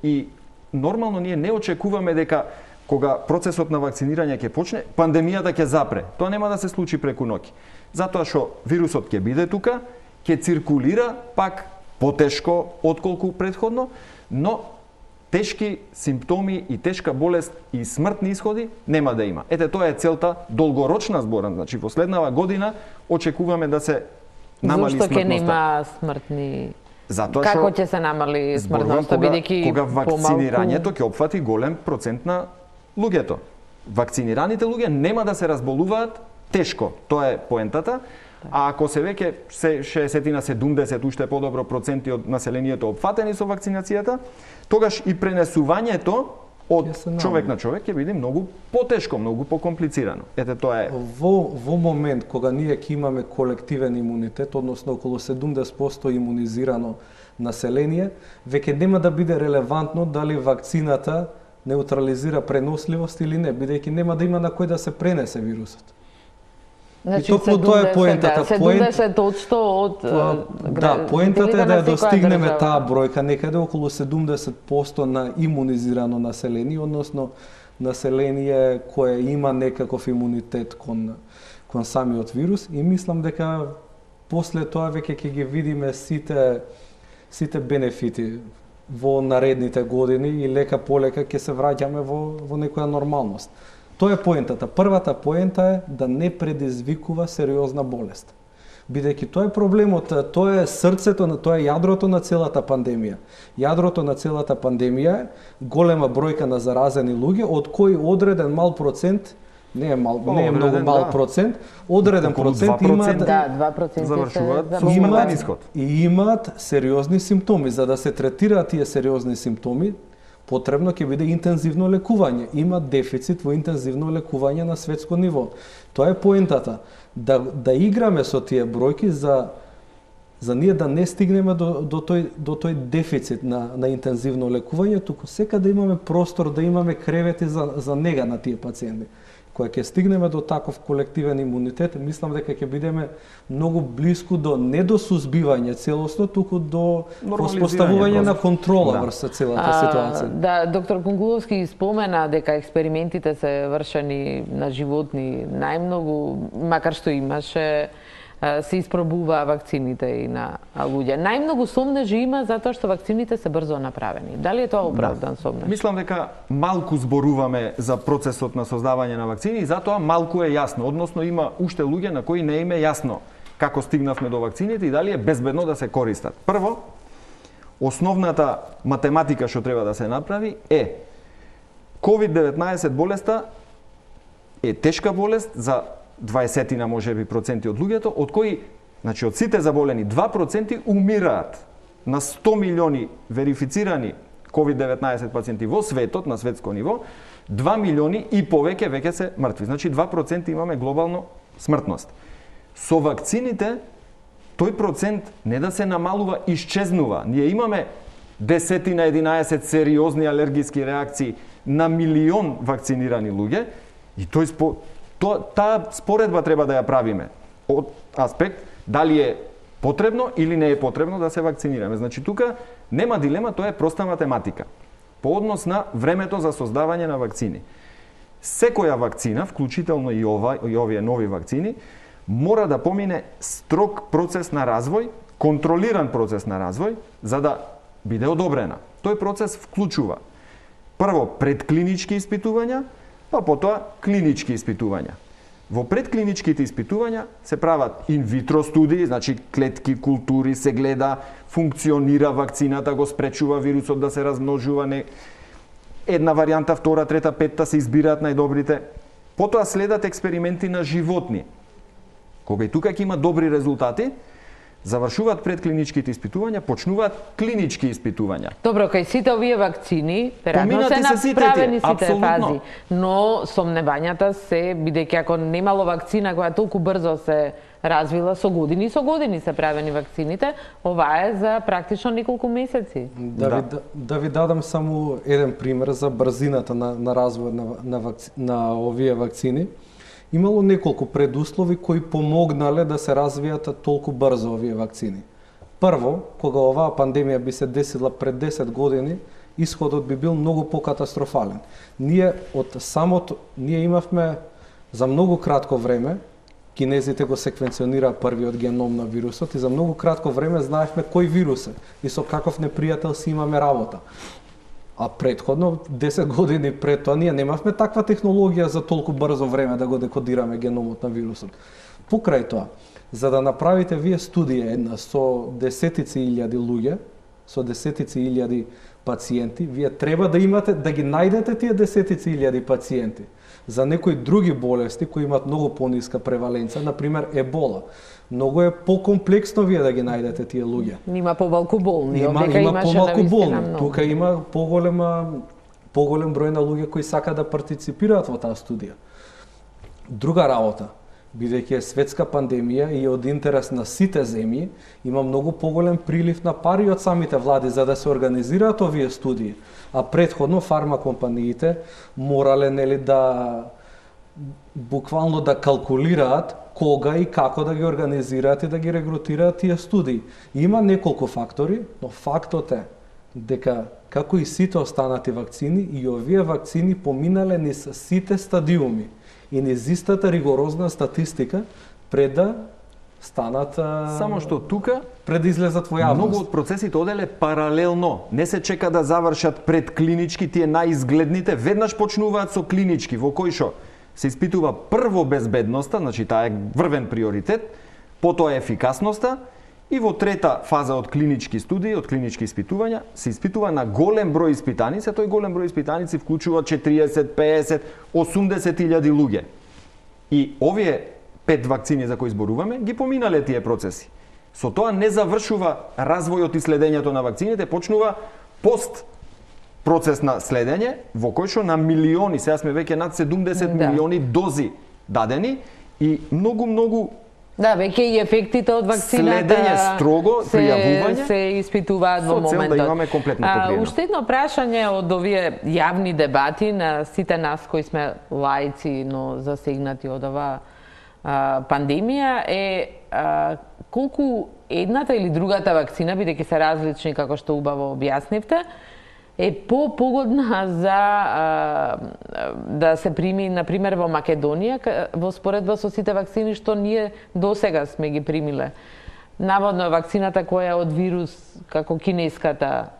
и нормално ние не очекуваме дека кога процесот на вакцинирање ќе почне, пандемијата ќе запре. Тоа нема да се случи преку ноќ. Затоа што вирусот ќе биде тука, ќе циркулира пак потешко отколку претходно, но тешки симптоми и тешка болест и смртни исходи нема да има. Тоа е целта долгорочна зборам, значи во следнава година очекуваме да се намали смртноста. Зошто ќе нема смртни? Затоа како ќе се намали смртноста, бидејќи кога вакцинирањето ќе опфати голем процент на луѓето. Вакцинираните луѓе нема да се разболуваат тешко. Тоа е поентата. А ако се веќе 60 на 70 уште подобро проценти од населението опфатени со вакцинацијата, тогаш и пренесувањето од човек на човек ќе биде многу потешко, многу покомплицирано. Ете тоа е. Во момент кога ние ќе имаме колективен имунитет, односно околу 70% имунизирано население, веќе нема да биде релевантно дали вакцината неутрализира преносливост или не, бидејќи нема да има на кој да се пренесе вирусот. Значи, и токму тоа е поентата. 70% од да, поентата е да ја достигнеме таа бројка некаде околу 70% на имунизирано население, односно население кое има некаков имунитет кон самиот вирус, и мислам дека после тоа веќе ќе ги видиме сите бенефити во наредните години и лека полека ќе се враќаме во некоја нормалност. Тоа е поентата. Првата поента е да не предизвикува сериозна болест. Бидејќи тоа е проблемот, тоа е срцето, тоа е јадрото на целата пандемија. Јадрото на целата пандемија е голема бројка на заразени луѓе, од кои одреден мал процент, не е многу мал процент, одреден процент имаат 2% завршуваат со смртен ишод. И имаат сериозни симптоми. За да се третираат тие сериозни симптоми, потребно ќе биде интензивно лекување. Има дефицит во интензивно лекување на светско ниво. Тоа е поентата. Да играме со тие бројки за ние да не стигнеме до тој дефицит на интензивно лекување, туку сека да имаме простор, да имаме кревети за нега на тие пациенти. Кога ќе стигнеме до таков колективен имунитет, мислам дека ќе бидеме многу блиску не до сузбивање целосно, туку до воспоставување на контрола врз целата ситуација. Да, доктор Кунгуловски спомена дека експериментите се вршени на животни најмногу, макар што имаше се испробува вакцините и на луѓе. Најмногу сомнежи има затоа што вакцините се брзо направени. Дали е тоа оправдан сомнеж? Мислам дека малку зборуваме за процесот на создавање на вакцини и затоа малку е јасно. Односно има уште луѓе на кои не им е јасно како стигнавме до вакцините и дали е безбедно да се користат. Прво, основната математика што треба да се направи е COVID-19 болеста е тешка болест за 20 можеби проценти од луѓето, од кои, значи од сите заболени 2% умираат. На 100 милиони верифицирани COVID-19 пациенти во светот, на светско ниво, 2 милиони и повеќе веќе се мртви. Значи 2% имаме глобално смртност. Со вакцините тој процент не да се намалува, исчезнува. Ние имаме 10 на 11 сериозни алергиски реакции на милион вакцинирани луѓе и таа споредба треба да ја правиме од аспект дали е потребно или не е потребно да се вакцинираме. Значи тука нема дилема, тоа е проста математика. По однос на времето за создавање на вакцини. Секоја вакцина, вклучително и овие нови вакцини, мора да помине строг процес на развој, контролиран процес на развој, за да биде одобрена. Тој процес вклучува прво предклинички испитувања, па потоа клинички испитувања. Во предклиничките испитувања се прават инвитро студии, значи клетки, култури, се гледа, функционира вакцината, го спречува вирусот да се размножува, една варијанта, втора, трета, петта се избираат најдобрите. Потоа следат експерименти на животни. Кога и тука ќе има добри резултати, завршуваат предклиничките испитувања, почнуваат клинички испитувања. Добро, кај сите овие вакцини, веројатно се направени сите фази, но сомневањата се, бидејќи ако немало вакцина која толку брзо се развила, со години се правени вакцините, ова е за практично неколку месеци. Да ви дадам само еден пример за брзината на развој на овие вакцини. Имало неколку предуслови кои помогнале да се развијат толку брзо овие вакцини. Прво, кога оваа пандемија би се десила пред 10 години, исходот би бил многу покатастрофален. Ние имавме за многу кратко време, кинезите го секвенционираа првиот геном на вирусот и за многу кратко време знаевме кој вирус е и со каков непријател си имаме работа. А претходно, 10 години пред тоа, ние немавме таква технологија за толку брзо време да го декодираме геномот на вирусот. Покрај тоа, за да направите вие студија една со десетици илјади луѓе, со десетици илјади пациенти, вие треба да имате, да ги најдете тие десетици илјади пациенти. За некои други болести кои имаат многу пониска преваленца, например ебола, многу е покомплексно вие да ги најдете тие луѓе. Има помалку болни, Има имаше помалку болни. многу. Тука има поголем број на луѓе кои сака да партиципираат во таа студија. Друга работа, бидејќи е светска пандемија и од интерес на сите земји, има многу поголем прилив на пари од самите влади за да се организираат овие студии. А претходно фармакомпаниите морале да буквално да калкулираат кога и како да ги организираат и да ги регрутираат тие студии. Има неколку фактори, но фактот е дека како и сите останати вакцини, и овие вакцини поминале низ сите стадиуми и низ истата ригорозна статистика пред да станат Само што тука пред да излезат во јавност. многу од процесите оделе паралелно. Не се чека да завршат пред клинички, тие најизгледните веднаш почнуваат со клинички, во кои што се испитува прво безбедноста, значи таа е врвен приоритет, потоа ефикасноста и во трета фаза од клинички студии, од клинички испитувања, се испитува на голем број испитаници, а тој голем број испитаници вклучува 40, 50, 80 илјади луѓе. И овие 5 вакцини за кои зборуваме, ги поминале тие процеси. Со тоа не завршува развојот и следењето на вакцините, почнува пост процес на следење, во кој што на милиони, сега сме веќе над 70 милиони дози дадени и многу Да, веќе и ефектите од вакцината следење строго, пријавување се испитуваат во моментот. Со цел да имаме комплетно покриено. Уште едно прашање од овие јавни дебати на сите нас кои сме лаици, но засегнати од ова пандемија е колку едната или другата вакцина, бидејќи се различни како што убаво објаснивте, е погодна за да се прими, например, во Македонија, во споредба со сите вакцини што ние досега сме ги примиле. Наводно вакцината која е од вирус, како кинеската,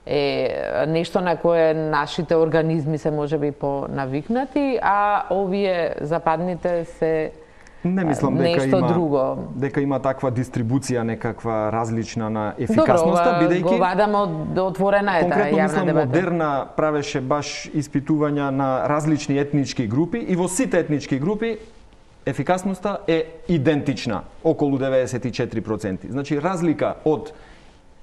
е нешто на кое нашите организми се можеби понавикнати, а овие западните се Не мислам дека има таква дистрибуција некаква различна на ефикасноста, бидејќи го вадам од отворена е таа јавна дебата. Модерна правеше баш испитувања на различни етнички групи и во сите етнички групи ефикасноста е идентична, околу 94%. Значи разлика од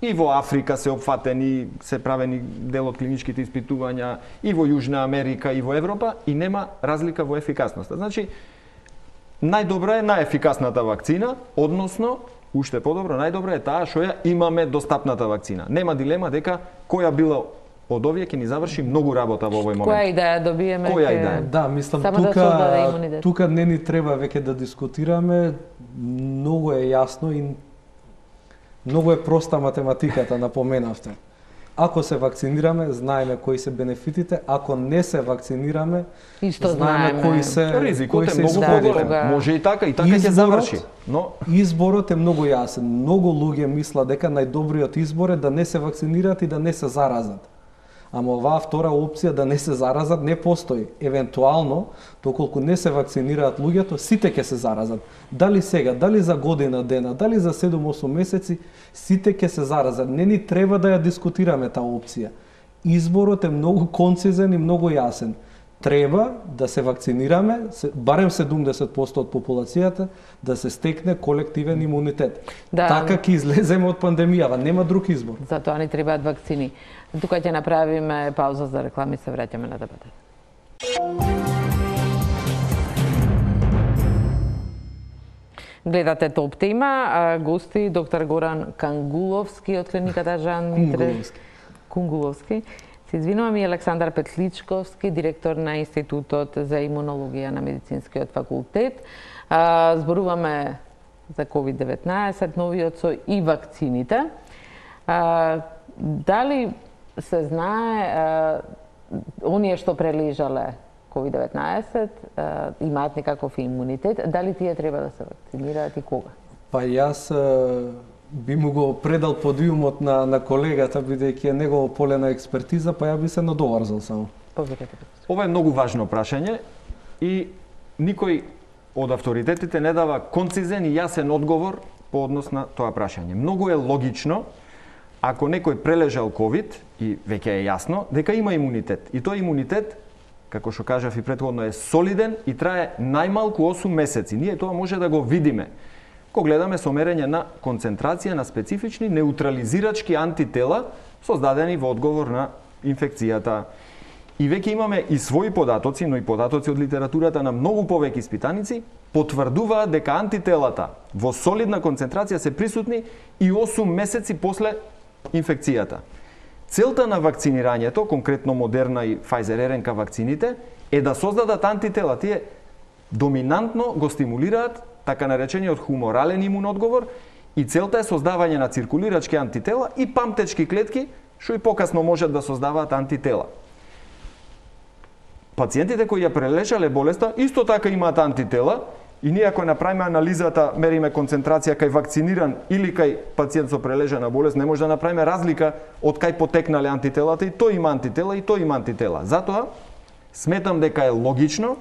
и во Африка се опфатени, се правени дел од клиничките испитувања и во Јужна Америка и во Европа и нема разлика во ефикасноста. Значи најдобра е најефикасната вакцина, односно, уште подобро, најдобра е таа што ја имаме достапната вакцина. Нема дилема дека која била од овие ќе ни заврши многу работа во овој момент. Која идеја добиеме? Која идеја? Да, мислам тука не ни треба веќе да дискутираме, многу е јасно и многу е проста математиката, напоменавте. Ако се вакцинираме, знаеме кои се бенефитите, ако не се вакцинираме, знаеме кои се ризикот е многу поголем. Може и така ќе заврши, но изборот е многу јасен. Многу луѓе мислат дека најдобриот избор е да не се вакцинираат и да не се заразат. Ама оваа втора опција да не се заразат не постои. Евентуално, доколку не се вакцинираат луѓето, сите ќе се заразат. Дали сега, дали за година дена, дали за 7-8 месеци, сите ќе се заразат. Не ни треба да ја дискутираме таа опција. Изборот е многу концизен и многу јасен. Треба да се вакцинираме, барем 70% од популацијата, да се стекне колективен имунитет. Да. Така ќе излеземе од пандемијава, нема друг избор. Затоа ни требаат вакцини. Тука ќе направиме пауза за реклами, се враќаме на дебатата. Гледате Топ тема, гости доктор Горан Кангуловски од клиниката Жан Митре Кунгуловски. Се извинувам, и Александар Петличковски, директор на Институтот за имунологија на Медицинскиот факултет. Зборуваме за COVID-19, новиот со и вакцините. Дали се знае оние што прележале COVID-19 имаат некаков имунитет, дали тие треба да се вакцинираат и кога? Па јас би му го предал подиумот на колегата, бидејќи е негово поле на експертиза, па ја би се надоврзал само. Ова е многу важно прашање и никој од авторитетите не дава концизен и јасен одговор по однос на тоа прашање. Многу е логично ако некој прележал ковид и веќе е јасно дека има имунитет. И тој имунитет, како што кажав и претходно, е солиден и трае најмалку 8 месеци. Ние тоа може да го видиме кога гледаме со мерење на концентрација на специфични неутрализирачки антитела создадени во одговор на инфекцијата. И веќе имаме и своји податоци, но и податоци од литературата на многу повеќе испитаници, потврдуваат дека антителата во солидна концентрација се присутни и 8 месеци после инфекцијата. Целта на вакцинирањето, конкретно Модерна и Pfizer РНК вакцините, е да создадат антитела. Тие доминантно го стимулираат така наречениот хуморален имун одговор и целта е создавање на циркулирачки антитела и памтечки клетки, што и покасно можат да создаваат антитела. Пациентите кои ја прележале болеста исто така имаат антитела и ние ако направиме анализата, мериме концентрација кај вакциниран или кај пациент со прележана болест, не може да направиме разлика од кај потекнале антителата и тој има антитела и тој има антитела. Затоа сметам дека е логично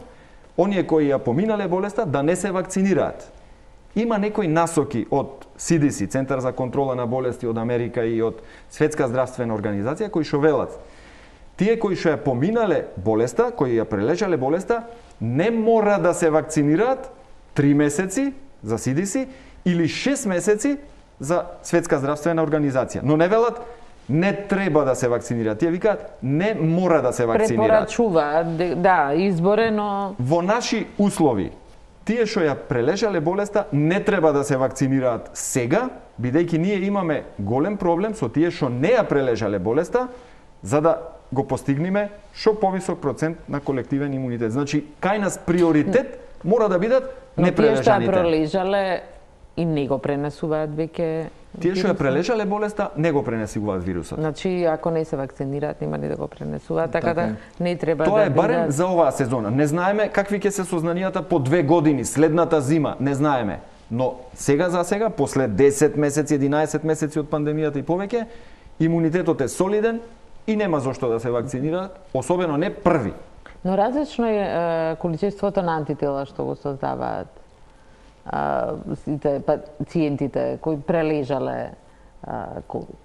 оние кои ја поминале болеста да не се вакцинираат. Има некои насоки од CDC, Центар за контрола на болести од Америка и од Светска здравствена организација кои што велат тие кои што ја поминале болеста, кои ја прележале болеста, не мора да се вакцинираат 3 месеци за CDC или 6 месеци за Светска здравствена организација. Но не велат не треба да се вакцинираат. Тие викаат не мора да се вакцинираат. Препорачуваат, да, изборено. Во наши услови, тие што ја прележале болеста не треба да се вакцинираат сега, бидејќи ние имаме голем проблем со тие што не ја прележале болеста, за да го постигнеме што повисок процент на колективен имунитет. Значи, кај нас приоритет мора да бидат непрележаните. Но тие што ја прележале и не го пренесуваат веќе. Тие што ја прележале болеста не го пренесуваат вирусот. Значи, ако не се вакцинираат, нема ни да го пренесуваат, така да не треба тоа да е барем за оваа сезона. Не знаеме какви ќе се сознанијата по 2 години, следната зима, не знаеме. Но сега за сега, после 10 месеци, 11 месеци од пандемијата и повеќе, имунитетот е солиден и нема зошто да се вакцинираат, особено не први. Но различно е количеството на антитела што го создаваат сите пациентите кои прележале ковид.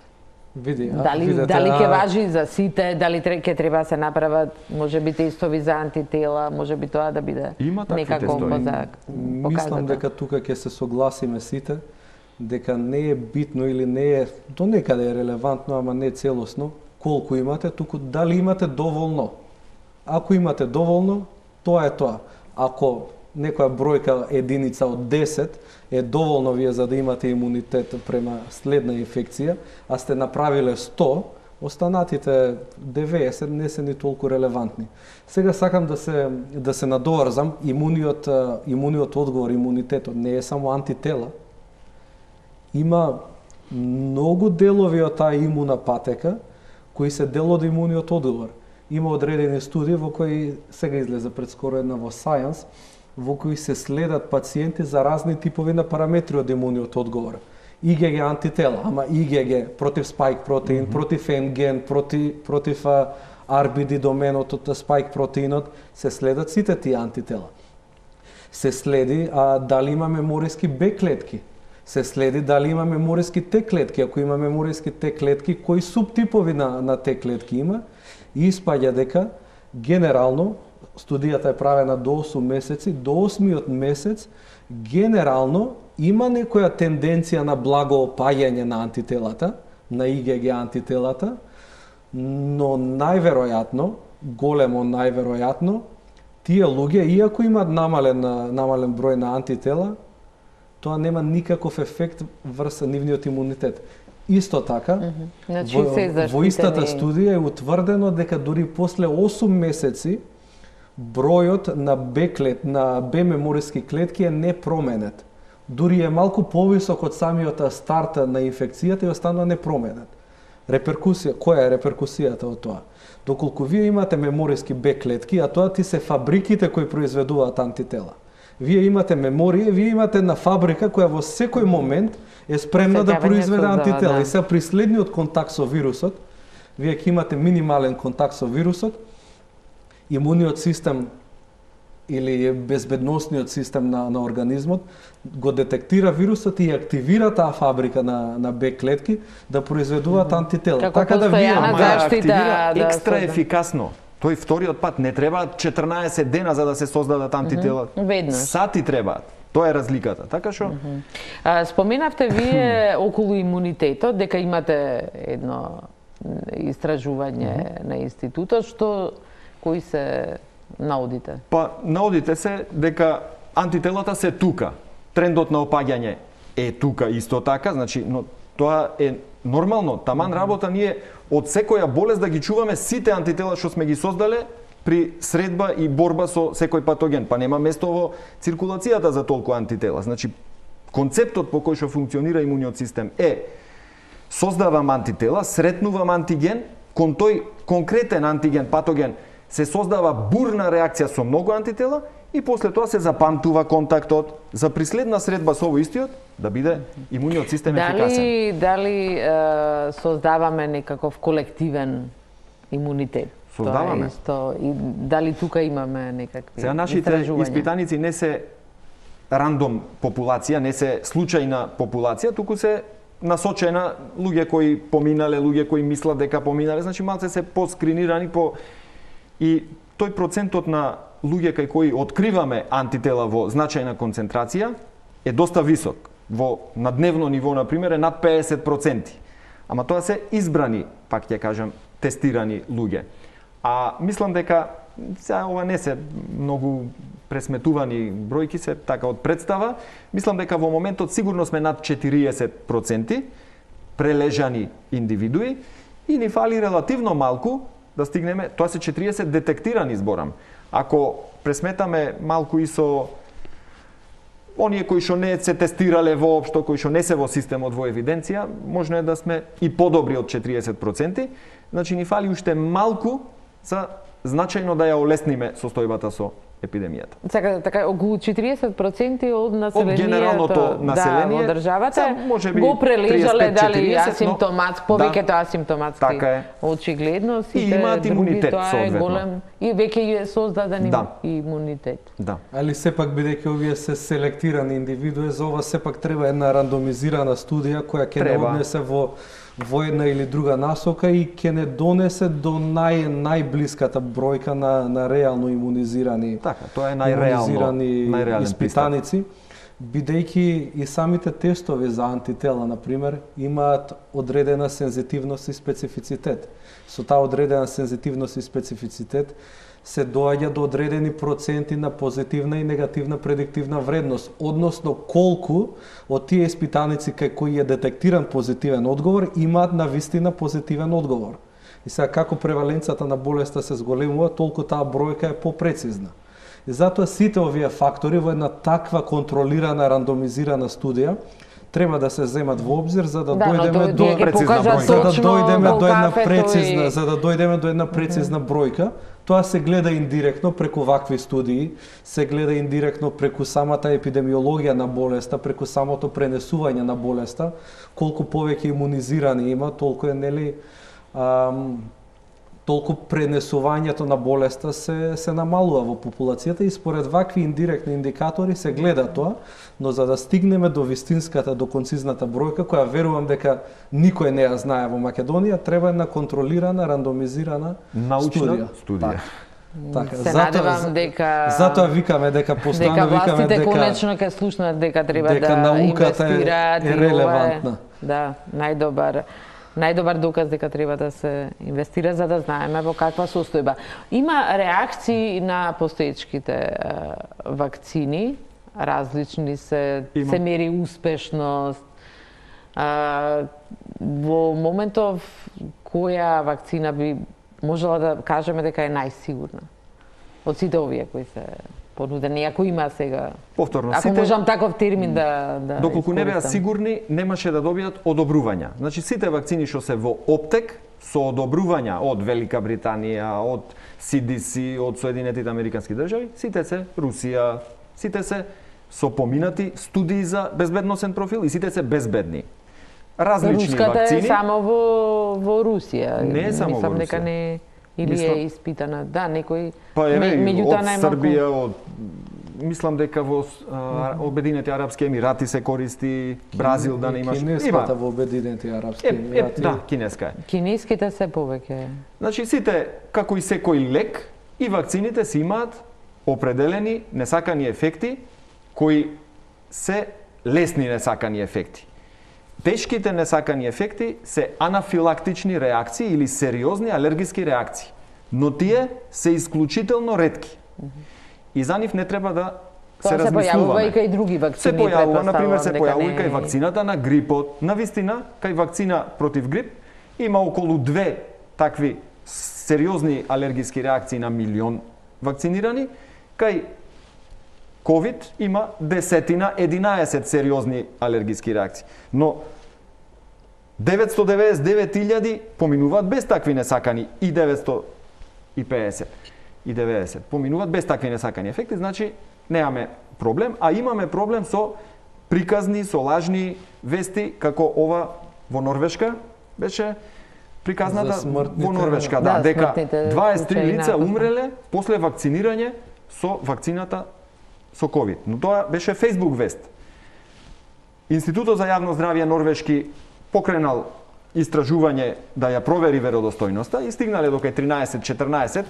Дали ќе важи за сите, дали ќе треба да се направат можеби тестови за антитела, можеби тоа да биде некако показател. Мислам дека тука ќе се согласиме сите дека не е битно или не е до некаде е релевантно, ама не целосно колку имате, туку дали имате доволно. Ако имате доволно, тоа е тоа. Ако некоја бројка единица од 10 е доволно вие за да имате имунитет према следна инфекција, а сте направиле 100, останатите 90 не се ни толку релевантни. Сега сакам да се надоврзам, имуниот одговор, имунитетот не е само антитела. Има многу делови од таа имуна патека кои се дел од имуниот одговор. Има одредени студии во кои сега излезе пред скоро една во Science, во кои се следат пациенти за разни типови на параметри од имуниот одговор. IgG антитела, ама IgG против спайк протеин, против N-ген, против RBD доменот од спайк протеинот, се следат сите тие антитела. Се следи дали има мемориски Б клетки. Се следи дали има мемориски Т клетки. Ако има мемориски Т клетки, кои субтипови на Т клетки има, и испаѓа дека генерално студијата е правена до 8 месеци, до 8-миот месец генерално има некоја тенденција на благо опаѓање на антителата, на IgG антителата, но најверојатно, големо најверојатно, тие луѓе, иако имаат намален број на антитела, тоа нема никаков ефект врз нивниот имунитет. Исто така, во истата студија е утврдено дека дури после 8 месеци бројот на Б мемориски клетки е непроменет. Дури е малку повисок од самиот старт на инфекцијата и останува непроменет. Која е реперкусијата од тоа? Доколку вие имате мемориски Б клетки, а тоа ти се фабриките кои произведуваат антитела. Вие имате меморија, вие имате една фабрика која во секој момент е спремна да произведе антитела. И сега при следниот контакт со вирусот, вие ќе имате минимален контакт со вирусот, имуниот систем или е безбедносниот систем на организмот, го детектира вирусот и активира таа фабрика на Б клетки да произведуваат антитела. Така да вие активира екстра ефикасно. Тој вториот пат не требаат 14 дена за да се создадат антитела. Веднаш. Сати требаат. Тоа е разликата. Така што споменавте вие околу имунитетот дека имате едно истражување на институтот, кои се наудите? Па наудите се дека антителата се тука. Трендот на опаѓање е тука исто така, значи, но тоа е нормално. Таман работа ние од секоја болест да ги чуваме сите антитела што сме ги создале при средба и борба со секој патоген. Па нема место во циркулацијата за толку антитела. Значи, концептот по кој што функционира имуниот систем е создавам антитела, сретнувам антиген, кон тој конкретен антиген, патоген, се создава бурна реакција со многу антитела и после тоа се запамтува контактот за приследна средба со овој истиот да биде имуниот систем ефикасен. Дали создаваме некаков колективен имунитет? Создаваме. И дали тука имаме некакви Сега нашите испитаници не се рандом популација, не се случајна популација, туку се насочена луѓе кои поминале, луѓе кои мислат дека поминале, значи малце се поскринирани и тој процентот на луѓе кај кои откриваме антитела во значајна концентрација е доста висок. На дневно ниво, например, е над 50%. Ама тоа се избрани, пак ќе кажам, тестирани луѓе. А мислам дека сега ова не се многу пресметувани бројки, се така од представа. Мислам дека во моментот сигурно сме над 40% прележани индивидуи и ни фали релативно малку да стигнеме, тоа се 40 детектирани, зборам. Ако пресметаме малку и со оние кои што не се тестирале воопшто, кои што не се во системот во евиденција, можно е да сме и подобри од 40%, значи ни фали уште малку за значајно да ја олесниме состојбата со епидемијата. Така, околу 40% од населението, од генералното население, во државата можеби го прележале дали 35-40, асимптоматски, повеќето асимптоматски. Така е. Очигледно и имаат имунитет соодветно. И веќе е создаден имунитет. Да. Али сепак бидејќи овие се селектирани индивидуи, за ова сепак треба една рандомизирана студија која ќе не однесе во една или друга насока и ќе не донесе до најблиската бројка на реално имунизирани. Така, тоа е најреален испитаници, бидејќи и самите тестови за антитела, например, имаат одредена сензитивност и специфицитет. Со таа одредена сензитивност и специфицитет се доаѓа до одредени проценти на позитивна и негативна предиктивна вредност, односно колку од тие испитаници кај кои е детектиран позитивен одговор имаат навистина позитивен одговор. И сега како преваленцата на болеста се зголемува, толку таа бројка е попрецизна. И затоа сите овие фактори во една таква контролирана рандомизирана студија треба да се земат во обзир за да дојдеме до една прецизна бројка. Тоа се гледа индиректно преку вакви студии, се гледа индиректно преку самата епидемиологија на болеста, преку самото пренесување на болеста, колку повеќе имунизирани има, толку е толку пренесувањето на болеста се намалува во популацијата и според вакви индиректни индикатори се гледа тоа, но за да стигнеме до вистинската, до концизната бројка, која верувам дека никој не ја знае во Македонија, треба една контролирана, рандомизирана научна студија. Така, се надевам дека затоа викаме дека постојано викаме дека конечно ќе слушнат дека треба да науката инвестираат е релевантна. Да, најдобар доказ дека треба да се инвестира за да знаеме во каква состојба. Има реакции на постоечките вакцини, различни се мери успешност. Во моментов која вакцина би можела да кажеме дека е најсигурна од сите овие кои се понудени, ако има сега. Повторно, ако можам таков термин да доколку не беа сигурни, немаше да добијат одобрувања. Значи сите вакцини што се во оптек со одобрувања од Велика Британија, од CDC, од Соединетите Американски држави, сите се Русија, сите се со поминати студии за безбедносен профил и сите се безбедни. Различни Руската вакцини. Е само во Русија. Не е само во Русија. Дека не или е испитана, да, некои од Србија, од мислам дека во Обединените арапски емирати се користи, Бразил да не имаш. Кинеската во Обединените арапски емирати. Да, кинеска е. Кинеските се повеќе. Значи сите, како и секој лек, и вакцините си имаат определени несакани ефекти кои се лесни несакани ефекти. Тешките несакани ефекти се анафилактични реакции или сериозни алергиски реакции, но тие се исклучително ретки. И за нив не треба да се размислуваме. Се појавува и кај други вакцини. Се појавува, например, се појавува и кај вакцината на грипот. Навистина, кај вакцина против грип има околу 2 такви сериозни алергиски реакции на милион вакцинирани, кај COVID има 10-11 сериозни алергиски реакции. Но 999.000 поминуваат без такви несакани и 950 и 90 поминуваат без такви несакани ефекти, значи немаме проблем, а имаме проблем со приказни, со лажни вести, како ова во Норвешка беше приказната во Норвешка, да, дека 23 лица умреле после вакцинирање со вакцината со COVID. Но тоа беше Facebook вест. Институтот за јавно здравје норвешки покренал истражување да ја провери веродостојноста и стигнале до кај 13-14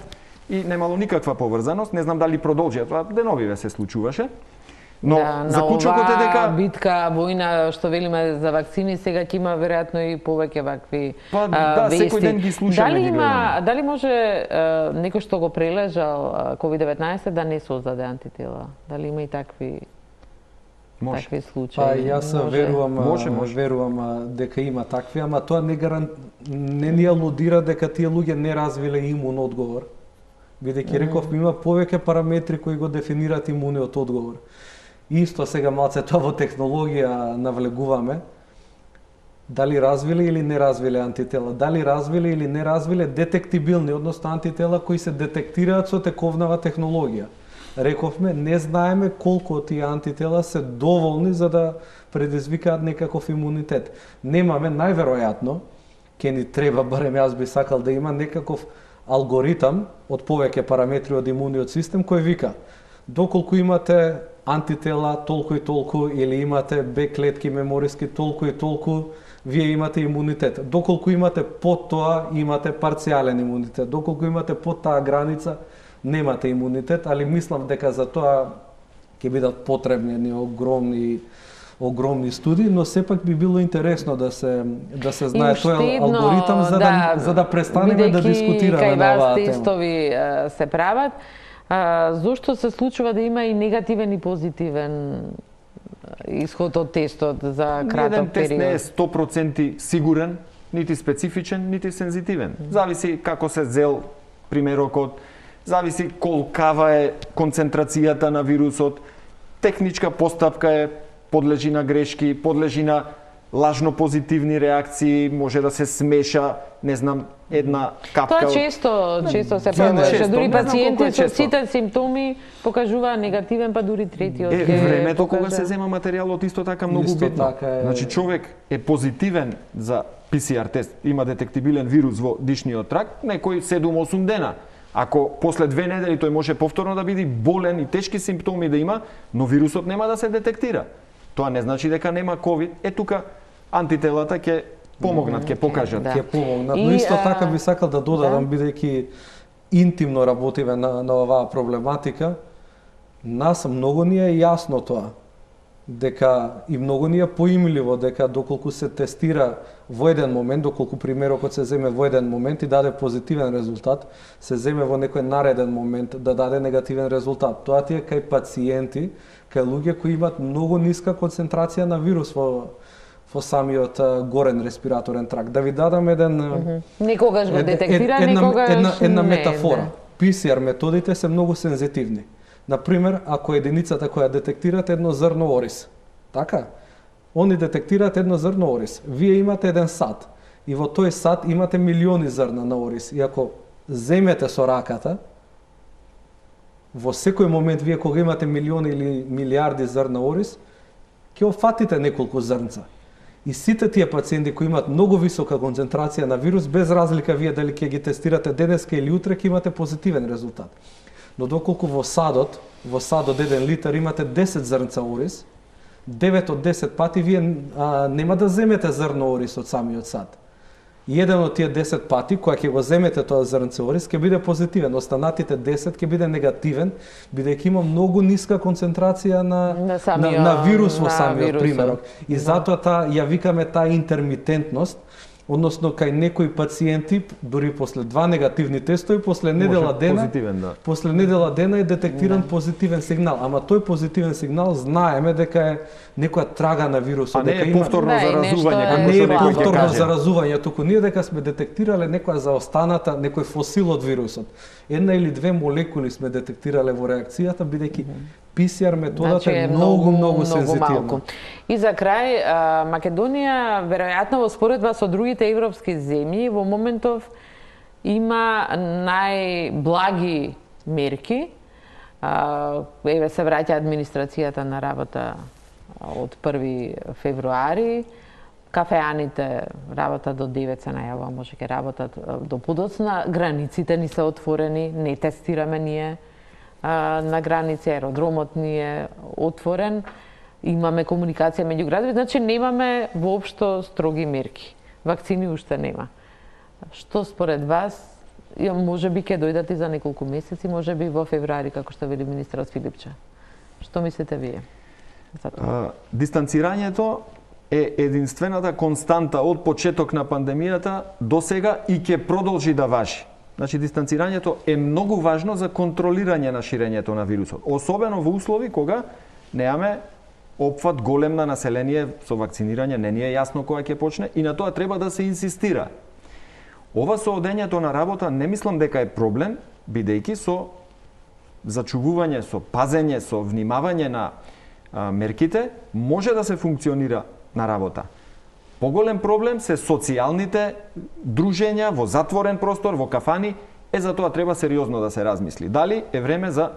и немало никаква поврзаност. Не знам дали продолжија, тоа деновиве се случуваше. Но да, заклучокот е дека битка, војна што велиме за вакцини, сега ќе има веројатно и повеќе вакви да, вести. секој ден ги слушаме, дали може некој што го прележал COVID-19 да не создаде антитела? Дали има и такви такви случаи? Па јас верувам дека има такви, ама тоа не ни алудира дека тие луѓе не развиле имун одговор. Бидејќи рековме има повеќе параметри кои го дефинираат имуниот одговор. Исто сега малце тоа во технологија навлегуваме. Дали развиле или не развиле антитела? Дали развиле или не развиле детектибилни, односно антитела кои се детектираат со тековнава технологија. Рековме, не знаеме колку од тие антитела се доволни за да предизвикаат некаков имунитет. Немаме, најверојатно, ќе ни треба, барем јас би сакал да има некаков алгоритам од повеќе параметри од имуниот систем кој вика доколку имате антитела толку и толку или имате Б клетки мемориски толку и толку, вие имате имунитет. Доколку имате под тоа, имате парцијален имунитет. Доколку имате под таа граница, немате имунитет, али мислам дека за тоа ќе бидат потребни огромни студии, но сепак би било интересно да се знае тој алгоритам за да престанеме да дискутираме на оваа тема. Кај вас тестови се прават, зошто се случува да има и негативен и позитивен исход од тестот за краток период? Еден тест не е 100% сигурен, нити специфичен, нити сензитивен. Зависи како се зел примерокот, зависи колкава е концентрацијата на вирусот, техничка постапка е, подлежи на грешки, подлежи на лажно позитивни реакции, може да се смеша, не знам, една капка. Тоа често се појавува, дури пациенти со сите симптоми покажуваат негативен, па дури третиот ќе времето кога се зема материјалот исто така многу битно. Значи човек е позитивен за PCR тест, има детектибилен вирус во дишниот трак, некој 7-8 дена. Ако после 2 недели тој може повторно да биде болен и тешки симптоми да има, но вирусот нема да се детектира. Тоа не значи дека нема COVID. Тука антителата ќе помогнат, ќе покажат. Ќе помогнат. Но исто така би сакал да додадам, бидејќи интимно работиме на оваа проблематика, нас многу ни е јасно тоа, дека и многу ни е поимливо дека доколку се тестира во еден момент, доколку примерокот се земе во еден момент и даде позитивен резултат, се земе во некој нареден момент да даде негативен резултат. Тоа ти е кај пациенти, кај луѓе кои имаат многу ниска концентрација на вирус во самиот горен респираторен тракт. Да ви дадам некогаш го детектира, некогаш една метафора. PCR методите се многу сензитивни. Например, ако единицата која детектираат едно зрно ориз, така? Они детектираат едно зрно ориз. Вие имате еден сад и во тој сад имате милиони зрна на ориз. И ако земете со раката, во секој момент вие кога имате милиони или милиарди зрна ориз, ќе офатите неколку зрнца. И сите тие пациенти кои имаат многу висока концентрација на вирус, без разлика вие дали ќе ги тестирате денеска или утре, ќе имате позитивен резултат. Но доколку во садот 1 литар имате 10 зрнца ориз, 9 од 10 пати вие нема да земете зрно ориз од самиот сад. И еден од тие 10 пати, кога ќе го земете тоа зрнце ориз, ќе биде позитивен, останатите 10 ќе биде негативен, бидејќи има многу ниска концентрација на вирус во самиот примерок. И затоа ја викаме таа интермитентност, односно кај некои пациенти дури после 2 негативни тестови после недела дена е детектиран позитивен сигнал, ама тој позитивен сигнал знаеме дека е некоја трага на вирусот, дека има повторно заразување, како не што е некој ќе повторно каже. заразување, туку ние дека сме детектирале некоја заостаната, некој фосил од вирусот. Една или две молекули сме детектирале во реакцијата, бидејќи PCR методата е многу сензитивна. И за крај, Македонија, веројатно во споредба со другите европски земји, во моментов има најблаги мерки. Еве се враќа администрацијата на работа од 1 февруари. Кафеаните работат до 9 се најавува, може ќе работат до подоцна. Границите ни се отворени, не тестираме ние на граници, аеродромот ни е отворен, имаме комуникација меѓу градови, значи немаме воопшто строги мерки. Вакцини уште нема. Што според вас, може би ќе дојдат и за неколку месеци, може би во февруари, како што вели министерот Филипче. Што мислите вие за тоа? Дистанцирањето е единствената константа од почеток на пандемијата до сега и ќе продолжи да важи. Значи, дистанцирањето е многу важно за контролирање на ширењето на вирусот. Особено во услови кога немаме опфат голем на население со вакцинирање, не ни е јасно кога ќе почне и на тоа треба да се инсистира. Ова со одењето на работа не мислам дека е проблем, бидејќи со зачувување, со пазење, со внимавање на мерките, може да се функционира на работа. Поголем проблем се социјалните дружења во затворен простор, во кафани, за тоа треба сериозно да се размисли. Дали е време за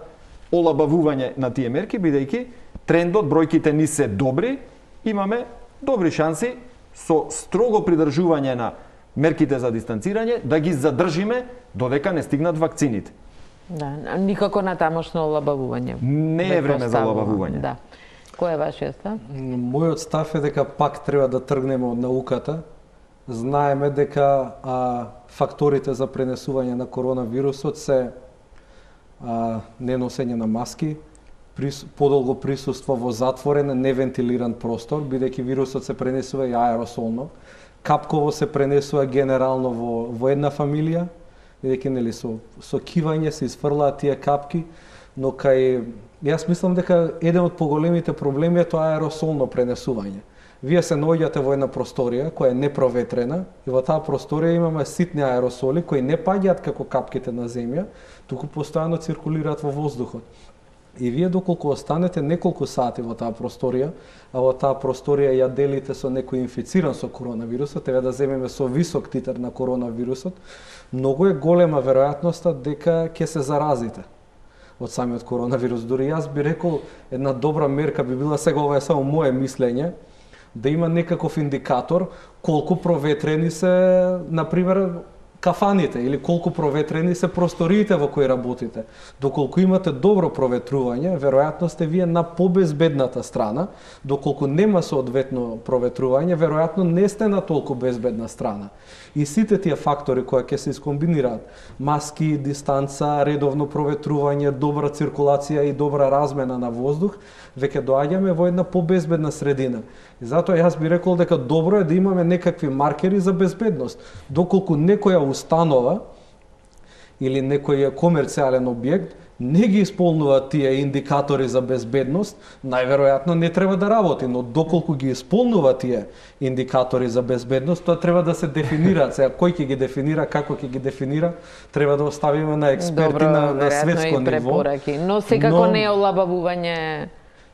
олабавување на тие мерки, бидејќи трендот, бројките ни се добри, имаме добри шанси со строго придржување на мерките за дистанцирање да ги задржиме додека не стигнат вакцините. Да, никако на тамошно олабавување. Не е време за олабавување. Да. Кој е вашиот став? Мојот став е дека пак треба да тргнеме од науката. Знаеме дека факторите за пренесување на коронавирусот се неносење на маски, подолго присуство во затворен, невентилиран простор, бидејќи вирусот се пренесува и аеросолно. Капково се пренесува генерално во една фамилија, бидејќи нели со кивање се изфрлаат тие капки, но јас мислам дека еден од поголемите проблеми е тоа аеросолно пренесување. Вие се наоѓате во една просторија која е непроветрена и во таа просторија имаме ситни аеросоли кои не паѓаат како капките на земја, туку постојано циркулираат во воздухот. И вие доколку останете неколку сати во таа просторија, а во таа просторија ја делите со некој инфициран со коронавирусот, еве да земеме со висок титар на коронавирусот, многу е голема веројатноста дека ќе се заразите од самиот коронавирус. Дури јас би рекол, една добра мерка би била, сега ова е само мое мислење, да има некаков индикатор колку проветрени се, например, кафаните или колку проветрени се просториите во кои работите. Доколку имате добро проветрување, веројатно сте вие на побезбедната страна, доколку нема соодветно проветрување, веројатно не сте на толку безбедна страна. И сите тие фактори кои ќе се искомбинираат, маски, дистанца, редовно проветрување, добра циркулација и добра размена на воздух, веќе доаѓаме во една побезбедна средина. И затоа јас би рекол дека добро е да имаме некакви маркери за безбедност. Доколку некоја установа или некој комерцијален објект не ги исполнува тие индикатори за безбедност, најверојатно не треба да работи, но доколку ги исполнува тие индикатори за безбедност, тоа треба да се дефинира. Сега кој ќе ги дефинира, како ќе ги дефинира, треба да оставиме на експерти на светско ниво. Но секако не е олабавување.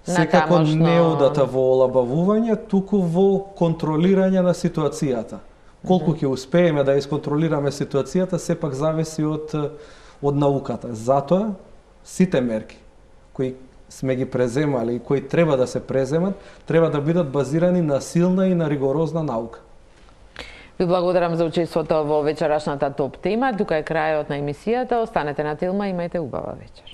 Секако не одата во олабавување, туку во контролирање на ситуацијата. Колку ќе успееме да исконтролираме ситуацијата, сепак зависи од науката. Затоа, сите мерки кои сме ги преземали и кои треба да се преземат, треба да бидат базирани на силна и на ригорозна наука. Ви благодарам за учеството во вечерашната топ тема. Тука е крајот на емисијата. Останете на Телма, имајте убава вечер.